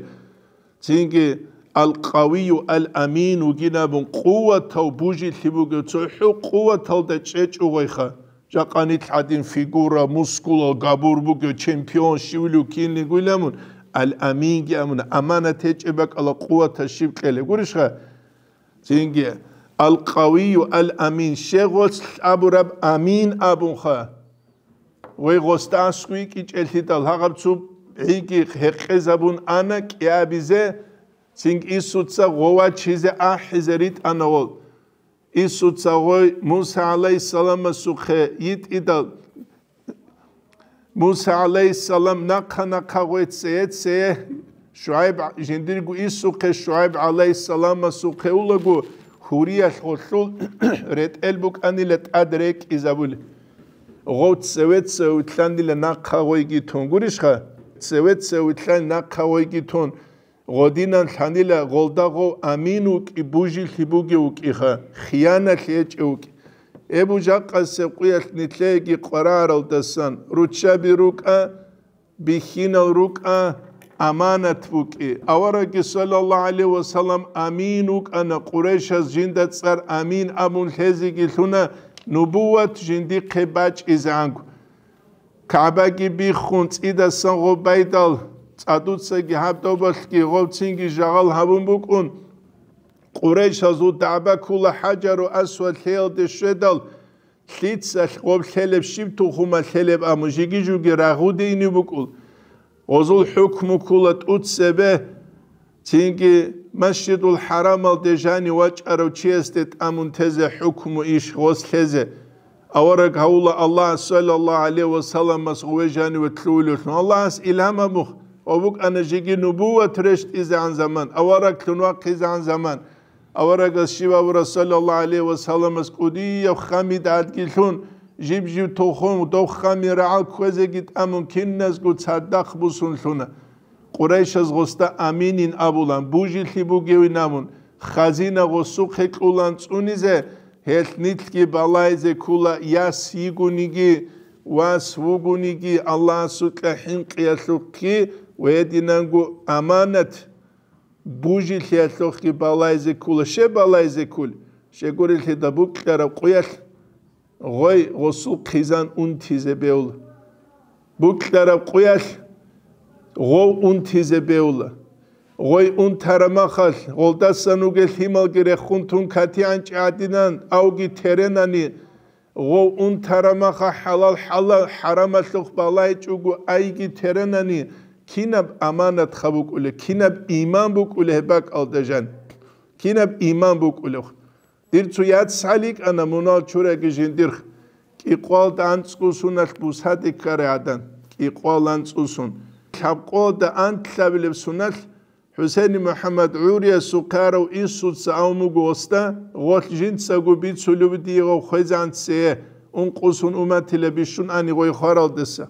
Цинги: «Ал-Къавию ал-Амин вугин», абун, къуватав бужилъи бугев, цохӀо къуваталда чӀечӀо гъойха. Жакъа нилъ гӀадин фигура, мускулал габур бугев, чемпион щивлев кинлигуйламун, ал-Аминги амуна, аманат гьечӀеб бакӀала къуватас щиб кьелеб гурищха? Цинги: «Ал-Къавию ал-Амин», щегъолъ абураб Амин абунха. Гъой гъосда аскӀов йикӀичӀелъидал гьагъаб цо гӀиги гьекъезабун ана кӀиабизе, цинги иссуца гъов вачизе ахӀизе ритӀана гъол. Иссуца гъой Муса гӀалайгьиссаламасухъе йитӀидал, Муса гӀалайгьиссалам нахъа-нахъа гъой цее-цее, ШугӀайб, жиндирго иссухъе ШугӀайб гӀалайгьиссаламасухъе улаго, гьуриялъ гъолъул ретӀел букӀанила тӀад рекӀизабули. Гъов цеве-цеве вилълъанила нахъа гъойги тун. Гурищха? Цеве-цеве вилълъан нахъа гъойги тун. Гъодинан лъанила гъолда гъов амин вукӀи, бужилъи бугев вукӀиха, хияналъи гьечӀев вукӀи. Эбу жакъасеб къуялъ нилъееги къварагӀаралдасан руччаби рукӀа, бихьинал рукӀа, аманат букӀи. Аварагги, саллаллагьу гӀалайгьи ва саллам, амин вукӀана, Къурайшаз жинда цӀар амин абун лъезеги лъуна, нубувват жиндихъе бачӀизегӀанго. КагӀбаги биххун, цӀидасан гъоб байдал, цӀадуцаги гьаб добалъги гъовцинги жагъал гьабун букӀун, Къурайшазул дагӀба ккула ХӀажару Асвад лъеялде щведал, лъицалъ гъоб лъелеб, щиб тухума лъелеб аму жиги-жуги рагъуде инев букӀул. Гъозул хӀукму ккула тӀуцебе, цинги Масжидул ХӀарамалде жанив вачӀарав чиясде тӀамун тезе хӀукму иш гъос лъезе. Авараг гьавула Аллагьас саллаллагьу гӀалайгьи ва салламас гъове жаниве лъугьулевлъун. Аллагьас илгьам гьабух, ва букӀана жеги нубуват рещтӀизегӀан заман, авараглъун вахъизегӀан заман. Аварагас щиб абура, саллаллагьу гӀалайгьи ва салламас кӀудияб хам идгӀадги лъун, жиб-жиб тухум, дов хамил рагӀал кквезеги тӀамун, киназго цадахъ бусун лъуна. Къурайшаз гъосда аминин абулан, бужилъи бугевин абун, хазина гъосухъе кьулан цӀунизе, гьелъ нилъги балайзе ккула, яс йигониги, вас вугониги, Аллагьасукьа хӀинкъиялъухъги ва гьединанго аманат бужилъиялъухъги балайзе ккула. Щеб балайзе ккул? Щегурелъида букьараб къуялъ гъой гъосул хъизан унтизе беула. Букьараб къуялъ гъов унтизе беула. Гъой унтараб махалъ, гъолдасан вугел лъималги рехун тун катигӀанчӀи гӀадинан, авги теренани, гъов унтараб маха хӀалал хӀала-, хӀарамалъухъ балайчӀого айги теренани, кинаб аманат хабукӀулеб, кинаб иман букӀулеб гьеб бакӀалда жан? Кинаб иман букӀулеб? Дир цо яц гьаликӀана мунал чураги жиндирх, кӀикъвалда анцӀго суналъ бусаде ккарай гӀадан, кӀикъвал анцӀго сун. Лъабкъода антлъабилеб суналъ ХӀусейни МухӀаммад гӀуриясухъе арав Иссуца авун буго гъосда, гъолъ жинцаго бицулев дие гъов хвезегӀан цее, ункъо сун уматила бищун ани гъой хваралдаса.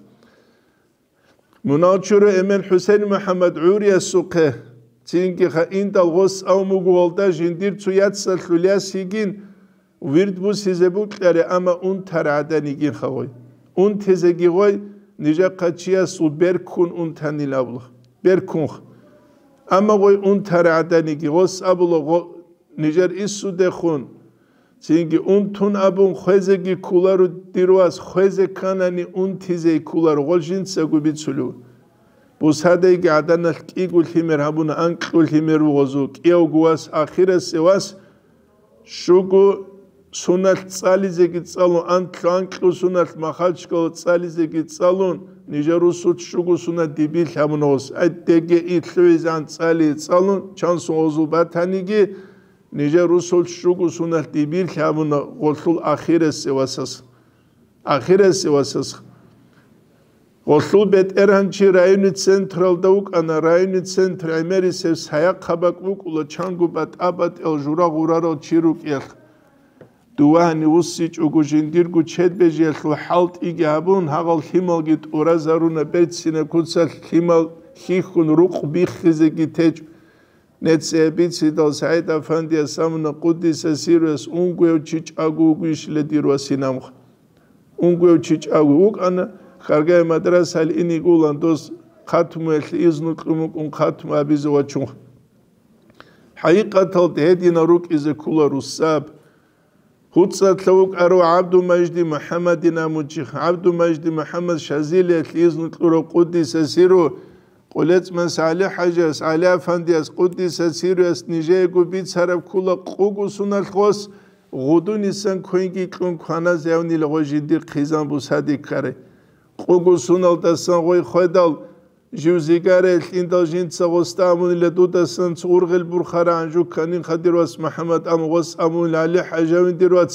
Мунал чура эмен ХӀусейн МухӀаммад гӀуриясухъе, цинги ха индал гъос авмугуялда жиндир цу яцалъул яс йигин, вирд бусизе букьаре, амма унтар гӀадан йигин хавой. Унтизеги гъой, нижахъа чиясул берккун унтанил абулх. Берккунх. Амма гъой унтар гӀадан йиги, гъос абула гъо-, нижер иссудехун, цинги унтун абун хвезеги кколаро дир вас, хвезе кканани унтизе кколаро, гъол жинцаго бицулев. Бусадайги гӀаданалъ кӀиго лъимер гьабуна, анкьго лъимер вугъозул, кӀиявго вас, ахирасе вас, щуго суналъ цӀализеги цӀалун, анкьго, анкьго суналъ махалчкала цӀализеги цӀалун, нижер русулъ щуго сунат дибилъ гьабуна гъос. Ай, деге итлъугӀизан цӀали цӀалун, чан сугъозул батаниги, нижер русул щуго суналъ дибирлъи гьабуна гъолъул ахирассе васас. Ахирассе васас. Гъолъул бетӀергьанчи районный централда вукӀана, районный центр гӀемерисев сайахъаб бакӀ букӀула, чанго батӀа-батӀиял жура гъурарал чи рукӀиялъ. Дувагьани вуссичӀого жиндирго чед бежиялъул хӀалтӀиги гьабун, гьагъал лъималги тӀуразаруна, берцина куцалъ лъимал хьихьун рукъ биххизеги течӀ. Нецие бицидал СагӀид-Афандияс абуна, къуддиса сирруяс, унгояв чи чӀаго вугищила дир васинамха. Унгояв чи чӀаго вукӀана, Харгай мадрасаялъ инигулан дос хатмуялъе изну кьун вукӀун хатму абизе вачун. ХӀакъикъаталда гьединал рукӀизе ккола руссаб. ГьуцӀалъа вукӀарав ГӀабдумажди МухӀаммадин амучи, ГӀабдумажди МухӀаммад Шазилиялъ изну кьурав къуддиса сирру, КъулецӀмас ГӀали-хӀажияс, ГӀали-афандияс, къуддиса сирруяс нижеего бицараб ккула къуго суналъ гъос, гъудунисан квенги кьун кваназ явнила гъой жиндир хъизан бусаде ккарай. Къуго суналдасан гъой хведал, жив зигаралъ индал жинца гъосда амунила дудасан цо ургъел бурхарагӀан жу кканин хадир вац МухӀаммад, амма гъос амунила ГӀали-хӀажавин дир вац,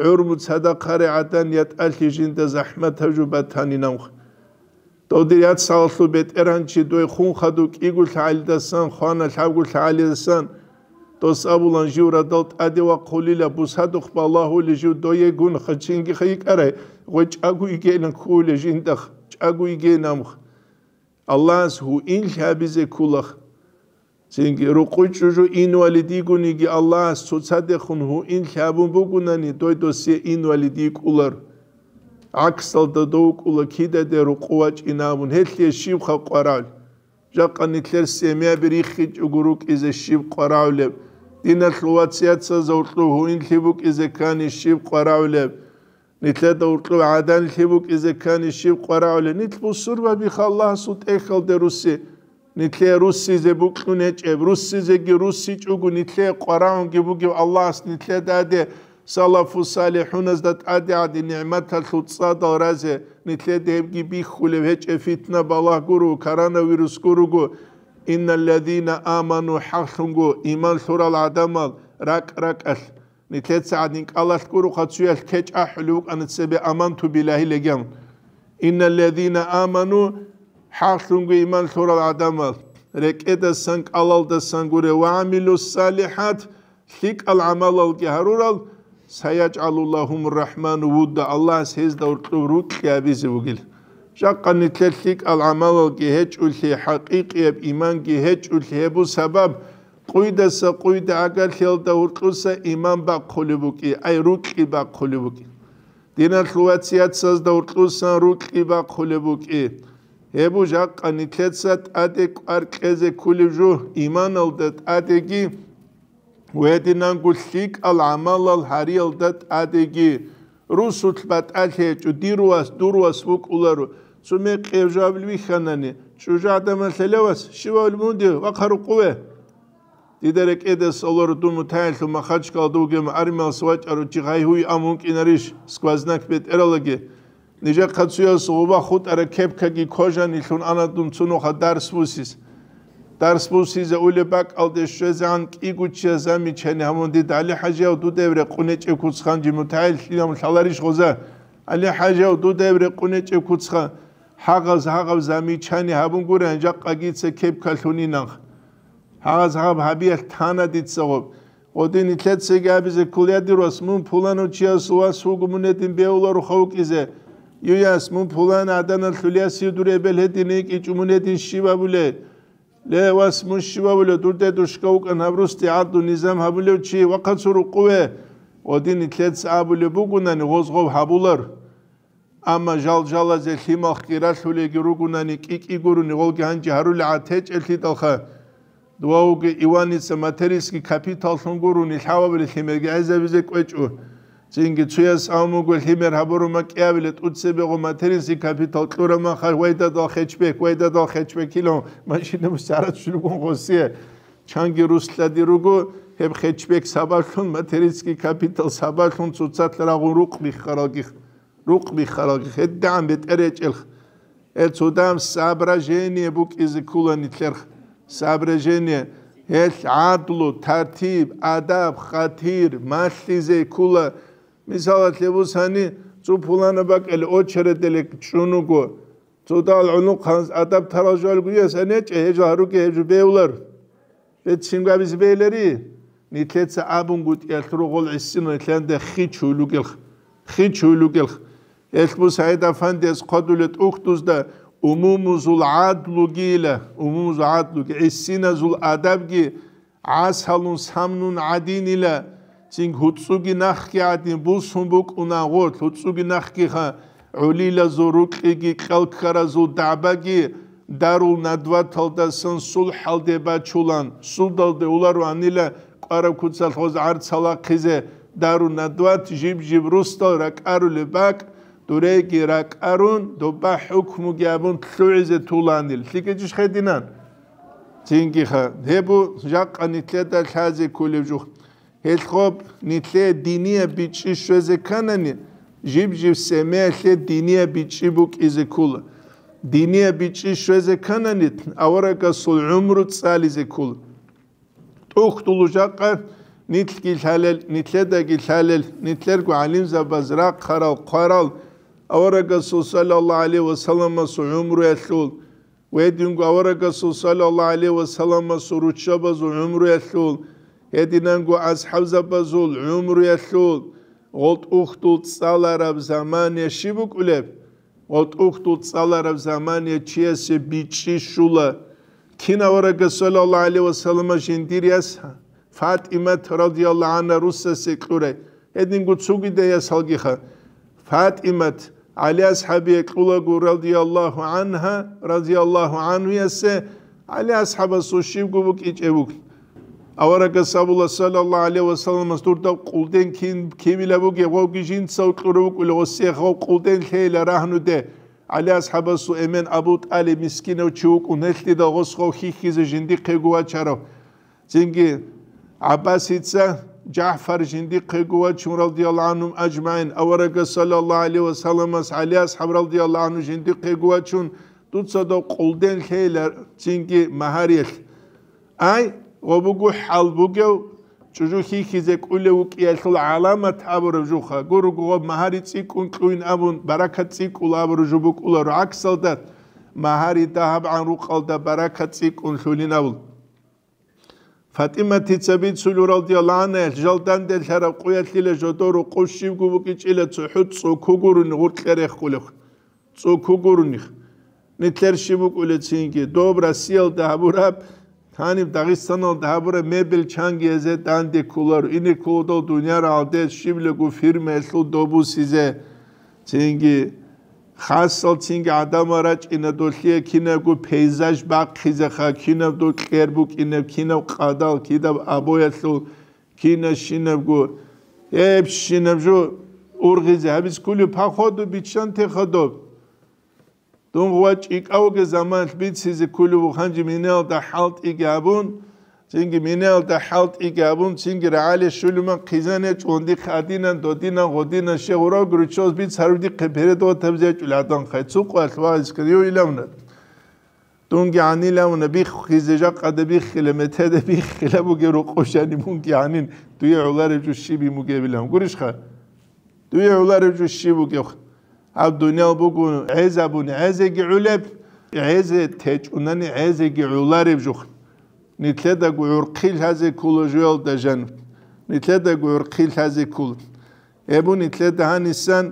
гӀурму цадахъаре гӀадан ятӀалъи жинда захӀматаб жу батанинавха. Дов дир яцалъул бетӀергьанчи дой хун хадув кӀиго лъагӀалидасан, хвана лъабго лъагӀалидасан, дос абулан жив радал тӀаде вахъулила, бусадухъ балагьули жив дойегун хачинги хайикӀарай, гъой чӀаго йигейилан ккули жиндах, чӀаго йигейин амх. Аллагьас гьуинлъи гьабизе ккулах. Цинги рукъуй чӀужу инвалид йигониги Аллагьас цоцадехун гьуинлъи гьабун бугунани, дой досие инвалид йикӀулар. ГӀаксалда дов вукӀула кидаде рукъу вачӀина абун, гьелъие щибха къварагӀул? Жакъа нилъер семьяби риххичӀого рукӀизе щиб къварагӀулеб? Диналъул вацияцазда гьоркьоб гьуинлъи букӀизе ккани щиб къварагӀулеб? Нилъеда гьоркьоб гӀаданлъи букӀизе ккани щиб къварагӀулеб? Нилъ бусурбабиха Аллагьасул тӀехьалде русси. Нилъее руссизе букьун гьечӀеб, руссизеги руссичӀого нилъее къварагӀунги бугев Аллагьас нилъеда гьаде салафу салихӀуназда тӀаде гӀади нигӀматалъул цӀадал разе, нилъеда гьебги бихьулев гьечӀеб, фитна балагь гуро, коронавирус гурого. Инналлазина аману, хӀакълъунго иман лъурал гӀадамал ракӀ-ракӀалъ. Нилъеца гӀадин кӀалалъ гуроха цуялъ кечӀ ахӀулев вукӀана цебе аманту билагьи легян. Инналлазина аману, хӀакълъунго иман лъурал гӀадамал, рекӀедасан, кӀалалдасан гуре, ва гӀамилу салихӀат, лъикӀал гӀамалалги гьарурал, саяжгӀалу лагьумур рахӀману вудда, Аллагьас гьезда гьоркьоб рукьи гьабизе вугил. Жакъа нилъер лъикӀал гӀамалалги гьечӀолъи, хӀакъикъияб иманги гьечӀолъи гьеб сабаб, къуйдаса къуйда гӀагарлъиялда гьоркьоса иман бахъулеб букӀи, ай рукьи бахъулеб букӀи. Диналъул вацияцазда гьоркьосан рукьи бахъулеб букӀи. Гьеб жакъа нилъеца тӀаде кӀвар кьезе кколеб жо, иманалда тӀадеги, гьединанго лъикӀал гӀамалал гьариялда тӀадеги. Русулъ батӀалъи гьечӀо, дир вас, дур вас вукӀуларо. Цо мекъи гьев жавабил вихьанани, чӀужугӀадан малъа: «Ле, вас, щивав мунде, вахъа рукъуве». Дида рекӀеде лъаларо дун мутагӀиллъун Махачкалда вугев армиялъ вачӀарав чи гъай-гьуй ан вукӀинарищ, сквознак бетӀералаги. Нижехъа цуяс гъуба хутӀараб кепкаги кожанилъун ана дун цунухъа дарс бусиз. Дарс бусизе улеб бакӀалде щвезегӀан кӀиго чияс замечание гьабун дида: «ГӀали-хӀажияв, дуда гьеб рекъон гьечӀеб куц хан жи мутагӀиллъиялъун лъаларищ гъоза? ГӀали-хӀажияв, дуда гьеб рекъон гьечӀеб куц хан». Гьагъаз гьагъаб замечание гьабун гурин, жакъа дица кепкалъунин анха. Гьагъаз гьаб гьабиялъ тана дица гъоб. Гъодин нилъецаги абизе ккола: «Я, дир вас, мун пуланав чиясул вас вуго, мун гьедин бевларуха вукӀизе. Ю, яс, мун пулан гӀаданалъул ясив дур эбел гьедин йикӀичӀо, мун гьедин щиб абулей? Ле, вас, мун щиб абулев, дур дедушка вукӀан гьаб русде гӀадлу низам гьабулев чи, вахъа цо рукъуве». Гъодин нилъеца абулеб бугунани, гъоз гъоб гьабулар. Амма жал-жалазе лъималхъги ралъулелги ругунани кӀи-кӀи гурони гъолги гьанже гьарулел гӀад гьечӀелъидалха, дувавги Иваница материнский капиталлъун гурони лъабабиле лъимерги гӀезабизе кӀвечӀо. Цинги цуяс абун буго: «Лъимер гьабуру макьабиле тӀуцебегъо материнский капитал кьураб маха, вайдадал хетчбек, вайдадал хетчбек», илан машина мусарат шулгун гъосие. Чанги рус лъади руго, гьеб хетчбек сабаблъун, материнский капитал сабаблъун цоцалъ рагъун рукъ биххаралги. Рукъ биххарал гьедигӀан бетӀер гьечӀелха. Гьел цодам соображение букӀизе ккола нилъерха. Соображение. Гьелъ гӀадлу, тартиб, адаб, хатир, малъизе ккола. Мисалалъе бусани, цо пуланаб бакӀалде очередалде чӀун вуго. Цодал гӀунухъанз адаб тарал жо гьечӀо, гьечӀо, гьеб жо гьаруге, гьеб жо бевлар. Бецин габизе бейилари? Нилъеца абунгутӀиялъ ругъул гӀисину нилъеда хичуй лугелх, хичуй лугелх. Гьелъ Мусаид Афандияс хъвадулеб тӀухьдузда умумузул гӀадлугийила, умумузул гӀадлуги, гӀисиназул адабги гӀасалун самнун гӀадинила, цин гьуцӀуги нахги гӀадин бусун букӀуна гъорлъ, гьуцӀуги нахгиха, гӀулилазул рукьиги кьалккаразул дагӀбаги дарул надваталдасан сулхӀалде бачулан, судалде уларуанила кӀвараб куцалъ гъоз гӀарцал ахъизе, дару надват жиб-жиб русдал ракӀарулеб бакӀ, дуреги ракӀарун, доба хӀукмуги абун лъугӀизе туланил. ЛъикӀичӀищ хединан? Цинги ха, гьеб бу жакъа нилъеда лъазе кколеб жух. Гьелъ гъоб нилъее динияб бичӀчӀи щвезе кканани, жиб-жиб семиялъе динияб бичӀчӀи букӀизе ккола. Динияб бичӀчӀи щвезе кканани, аварагасул гӀумру цӀализе ккола. ТӀухьдул жакъа нилъги лъалел, нилъедаги лъалел, нилъерго гӀалимзабаз рахъарал, хъварал, аварагасул саллаллагьу гӀалайгьи ва салламасул гӀумруялъул, гьединго аварагасул саллаллагьу гӀалайгьи ва салламасул руччабазул гӀумруялъул, гьединанго асхӀабзабазул гӀумруялъул, гъол тӀухьдул цӀалараб заман я щиб букӀулеб? Гъол тӀухьдул цӀалараб заман я чиясе бичӀчӀи щула. Кин аварагас саллаллагьу гӀалайгьи ва саллама жиндир яс ФатӀимат радияллагьу гӀангьа русасе кьурай, гьединго цогидаясалгиха. ФатӀимат, ГӀали асхӀабие кьулаго радияллагьу гӀангьа, радияллагьу гӀангьуясе, ГӀали асхӀабасул щибго букӀичӀеб буго. Аварагас абула, саллаллагьу гӀалайгьи ва салламас, дурда къулден кин, кивила бугеб, гъовги жинцав кьурав вукӀула, гъосие гъов къулден лъейила рагьнуде. ГӀали асхӀабасул эмен Абу ТӀалиб мискинав чи вукӀун, гьелъидал гъос гъов хьихьизе жиндихъего вачарав. Цинги ГӀаббасица ЖагӀфар жиндихъего вачун, радияллагьу гӀангьум ажмагӀин, аварагас саллаллагьу гӀалайгьи ва салламас ГӀали асхӀаб радияллагьу гӀангьу жиндихъего вачун, дуца дов къулден лъейила цинги магьариялъ. Ай, гъо буго хӀал бугев, чӀужу хьихьизе кӀулев вукӀиялъул гӀаламат абураб жуха. Гур-гугъаб магьари цӀикӀкӀун кьуйин абун, баракат цӀикӀкӀула абураб жо букӀуларо. ГӀаксалда, магьари дагьабгӀан рукъалда баракат цӀикӀкӀун лъулин абун. ФатӀиматица бицулев, радияллагьу гӀангьа, жал данделъараб къуялъила жодор рукъов щибго букӀичӀила цохӀо цӀоку гурони гъоркье рехулев. ЦӀоку гурони. Нилъер щиб букӀулецинги, доб Россиялда гьабураб, гьаниб Дагъистаналда гьабураб мебель чангиязе данде кколаро, ине кколдал дунияр гьалде щиблаго фирмаялъул добусизе. Цинги хасал цинги гӀадамал рачӀина долъие кинабго пейзаж бахъизеха, кинаб докьер букӀинеб, кинаб къадал, кидаб обоялъул, кинаб щинабго, гьеб щинаб жо ургъизе гьабиз кколев, походу, биччанте хадуб. Дун гъва чӀикӀавги заманалъ бицизе кколев вуханжи минаялда хӀалтӀиги абун, цинги минаялда хӀалтӀиги абун, цинги рагӀале щулиман хъизан ячӀун дихъ адинан, додинан, гъодинан, щегъурав гуручоз биц гьарудихъе передаватабизе ячӀул гӀадан хай. Цукъуялъ вагӀизкан йо илавна. Дунги гӀанилавна биххизе жакъада биххила, метеда биххила бугеб рукъов шани мунги гӀанин, дуе гӀолареб жо щиб мугебилан. Гурищха? Дуе гӀолареб жо щиб бугеб? Гьаб дуниял буго гӀезабуни гӀезеги гӀолеб, гӀезе течӀунани гӀезеги гӀолареб жо. Нилъедаго гӀурхъи лъазе ккола жоялда жан. Нилъедаго гӀурхъи лъазе ккола. Гьеб нилъеда гьанисан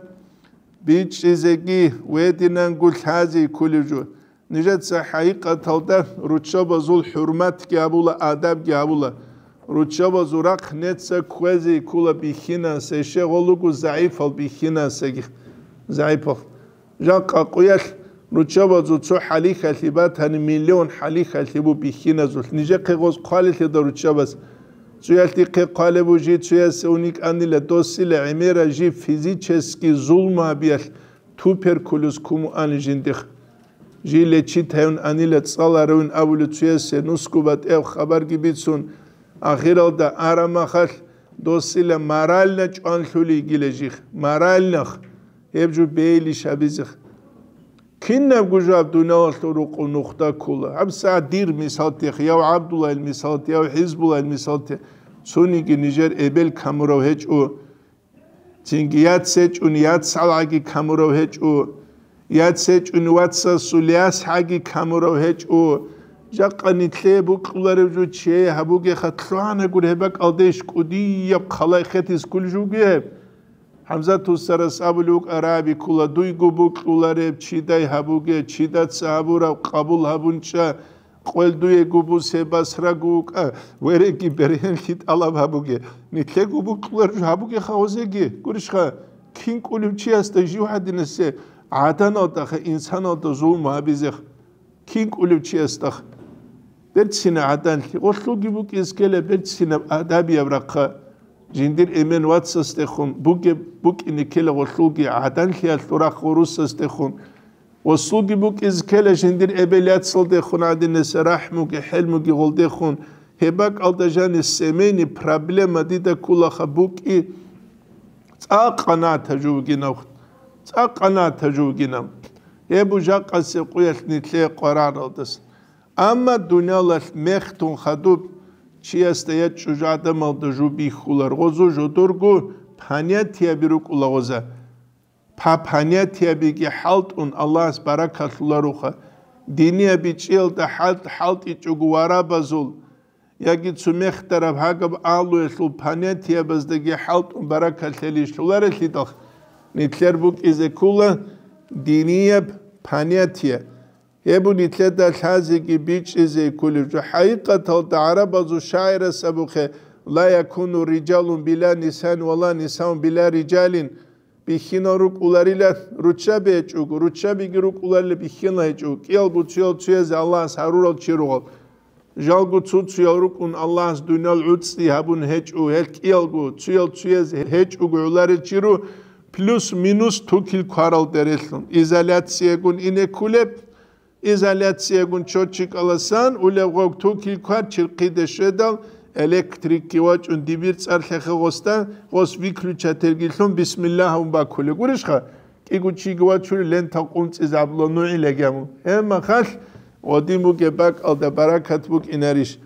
бичӀчӀизеги вединанго лъазе кколеб жо. Нижеца хӀакъикъаталда руччабазул хӀурматги гьабула, адабги гьабула. Руччабазул рахъ неца кквезе ккола бихьинасде, щегъолуго загӀипал бихьинасдеги. ЗагӀипал. Жакъа къуялъ руччабазул цо хӀалихьалъи батани, миллион хӀалихьалъи бу бихьиназулъ. Нижехъе гъоз хъвалелъеда руччабаз. Цуялъ дихъе хъвалеб бу жи цуясе уникӀанила досила гӀемера жи физически зулму гьабиялъ, туберкулез кумуани жиндихъ. Жи лечит гьавун анила цӀаларавин абули цуясе нусгу батӀияб хабарги бицун, ахиралда арамахалъ досила морально чӀванлъули йигила жих, моральнах, гьеб жо бейли шабизих. Кинабго жо гьаб дуниялалъул рукъу нухда ккола. ГьабсагӀат дир мисалтех, яв ГӀабдуллайил мисалте, яв ХӀизбуллайил мисалте, цониги нижер эбел камурав гьечӀо. Цинги яц гьечӀун яцалгӀаги камурав гьечӀо, яц гьечӀун вацасул ясгӀаги камурав гьечӀо. Жакъа нилъее букьуларев жо чие гьабугеха, лъугьанагур гьеб бакӀалдейищ кӀудияб хъалай хетиз кколеб жо бугеб? ХӀамзат устарас абулев вукӀа, раби ккола, дуйго букьулареб чидай гьабуге, чидаца гьабураб къабул гьабун чӀа, къвел дуего бусе басраго вукӀа, вереги бергьенлъи тӀалаб гьабуге. Нилъего букьулар жо гьабугеха гъозеги. Гурищха, кин кӀулев чиясда жив гьадинасе гӀаданалдаха инсаналда зулму гьабизех? Кин кӀулев чиясдах? Берцина гӀаданлъи. Гъолъулги букӀиз ккела берцинаб адабияб рахъа. Жиндир эмен вацасдехун бугеб букӀине ккела гъолъулги гӀаданлъиялъул рахъ гъурусасдехун. Гъосулги букӀиз ккела жиндир эбел-яцалдехун гӀадинаса рахӀмуги хӀелмуги гъолдехун, гьеб бакӀалда жанис семейный проблема дида кколаха букӀи, цӀакъ къанагӀат гьажу вугинав, цӀакъ къанагӀат гьажу вугинав. Гьеб бу жакъасеб къуялъ нилъее къварагӀаралдаса. Амма дуниялалъ мехтун хадуб чиясда я чӀужу гӀадамалда жо бихьулар, гъозу жодорго понятияби рукӀула гъоза. Папанятиябиги хӀалтӀун Аллагьас баракалъуларуха. Динияби чӀиялда хӀал-, хӀалтӀичӀого варабазул, яги цумехдараб гьагаб агьлуялъул понятиябаздаги хӀалтӀун баракалъ гьелищ лъуларелъидал, нилъер букӀизе ккула динияб понятие. Гьеб нилъеда лъазеги бичӀчӀизе кколеб жо. ХӀакъикъаталда гӀарабазул шагӀирас абухъе: «Ла якуну рижалун била нисаин ва ла нисаун била рижалин». Бихьинал рукӀуларила руччаби гьечӀого, руччабиги рукӀуларила бихьинал гьечӀого, кӀиялго цуял цуязе Аллагьас гьарурал чи ругъал. Жалго цо-цоял рукӀун Аллагьас дуниял гӀуцӀи гьабун гьечӀо, гьел кӀиялго цуял цуяз гьечӀого гӀоларел чи ру, плюс-минус тукил кварал дерелъун. Изоляциягун ине ккулеб, изоляциягун чочикаласан улеб гъоб тукил квар чирхъиде щведал, электрикги вачӀун дибир цӀар лъехе гъосда, гъос выключательги лъун бисмиллагь абун бакулеб. Гурищха? КӀиго чиги вачулел лента къунцӀизе гьабула нугӀилаги абун. Гьеб махалъ гъодин бугеб бакӀалда баракат букӀинарищ?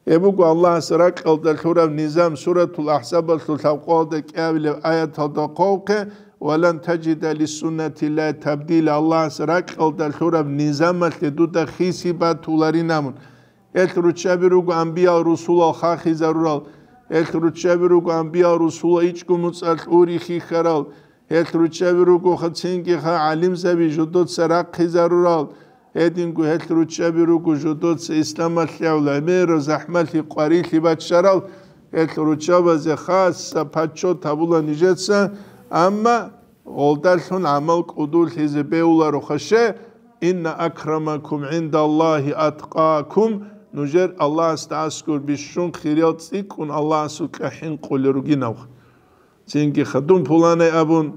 Гьеб буго Аллагьас ракьалда лъураб низам, Суратул АхӀзабалъул лъабкъоялда кӀиабилеб аяталда хъвавухъе: «Ва лан таджида лиссуннатиллагьи табдила», Аллагьас ракьалда лъураб низамалъе дуда хиси батуларин абун. Гьелъ руччаби руго анбиял-русулал хахизарурал, гьелъ руччаби руго анбиял-русулал ичӀго муцӀалъ ури хихьарал, гьелъ руччаби руго цинги гӀалимзаби жодоца рахъизарурал, гьединго гьелъ руччаби руго жодоца исламалъ гӀемер захӀмалъи къварилъи баччарал, гьелъ руччабазе хасса паччот гьабула нижеца, амма гъолдалъун гӀамал кӀудулъизе бегьуларо хаше: «Инна акрамакум гӀиндаллагьи аткъакум», нужер Аллагьасда аскӀор бищун хириял цӀикӀкӀун Аллагьасукьа хӀинкъулел ругинавха. Цинги ха, дун пуланай абун,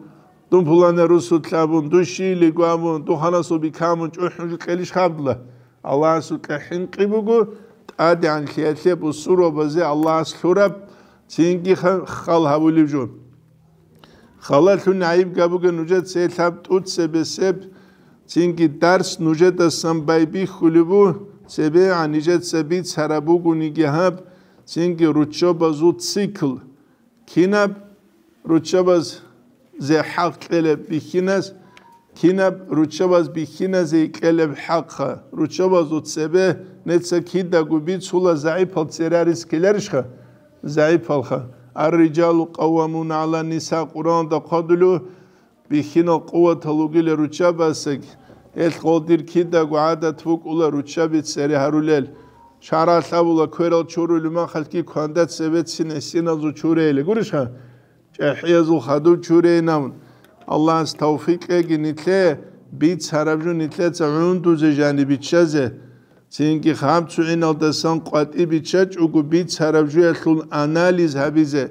дун пуланай русулъ абун, дун щийилиго абун, дун ханасул бикамун чӀухӀун жукьелищ хабдла? Аллагьасукьа хӀинкъи буго, тӀадегӀанлъиялъе бусурбабазе Аллагьас лъураб, цинги ха-, хал гьабулев жо. Халалъун гӀайиб габуге нужеца гьелъаб тӀуцебесеб, цинги дарс нужедасан байбихьулеб бу, цебегӀан нижеца бицараб бугониги гьаб, цинги руччабазул цикл. Кинаб руччабазе хӀакъ кьелеб бихьиназ, кинаб руччабаз бихьиназе кьелеб хӀакъха, руччабазул цебе неца кидаго бицула загӀипал церарис ккеларищха? ЗагӀипалха. «Ар-риджалу къаввамуна гӀалан-ниса» Къуръанда хъвадулев, бихьинал къуватал ругила руччабазеги, гьелъ гъолдир кидаго гӀадат букӀула руччаби цере гьарулел. ШаргӀалъ абула, кверал чурулеб мехалъги кванда цебецин гӀисиназул чурейила. Гурищха? ЧӀехӀиязул хадуб чурейин абун. Аллагьас тавфикъ кьеги нилъее, бицараб жо нилъеца гӀундузе жаниб биччазе. Цинги гьаб цугӀиналдасан къватӀи биччачӀого бицараб жоялъул анализ гьабизе,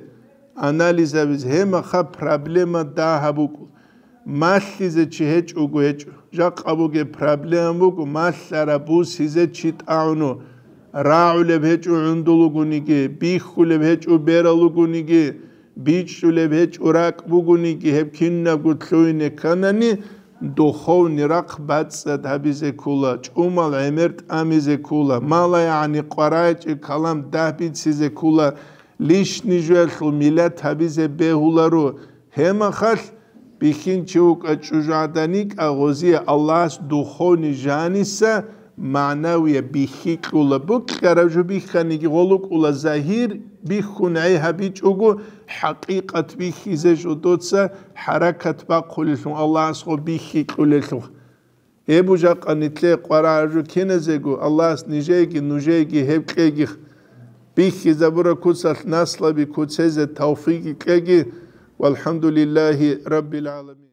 анализ гьабизе, гьемаха проблема дагьаб букӀу. Малъизе чи гьечӀого гьечӀо. Жакъа бугеб проблема буго, малъараб бусизе чи тӀагӀуну. РагӀулеб гьечӀо гӀундулугониги, бихьулеб гьечӀо бералугониги, бичӀчӀулеб гьечӀо ракӀ бугониги, гьеб кинабго лъугьине кканани, духовный рахъ бацӀцӀад гьабизе ккола, чӀумал гӀемер тӀамизе ккола, малаягӀни къваригӀинчӀеб калам дагьбицизе ккола, лишний жоялъул миллат гьабизе бегьуларо. Гьемахалъ бихьинчи вукӀа чӀужугӀаданикӀа гъозие Аллагьас духовный жаниса, магӀнавияб бихьи кьула. Букьараб жо бихьаниги гъолукӀула, загьир бихьун гӀей гьабичӀого, хӀакъикъат бихьизе жодоца хӀаракат бахъулелъун, Аллагьас гъо бихьи кьулелъул. Гьеб бу жакъа нилъее къварагӀараб жо киназего, Аллагьас нижееги нужееги гьеб кьеги, бихьизабураб куцалъ наслаби куцезе тавфикъ кьеги. ВалхӀамдулиллагьи раббил гӀаламин.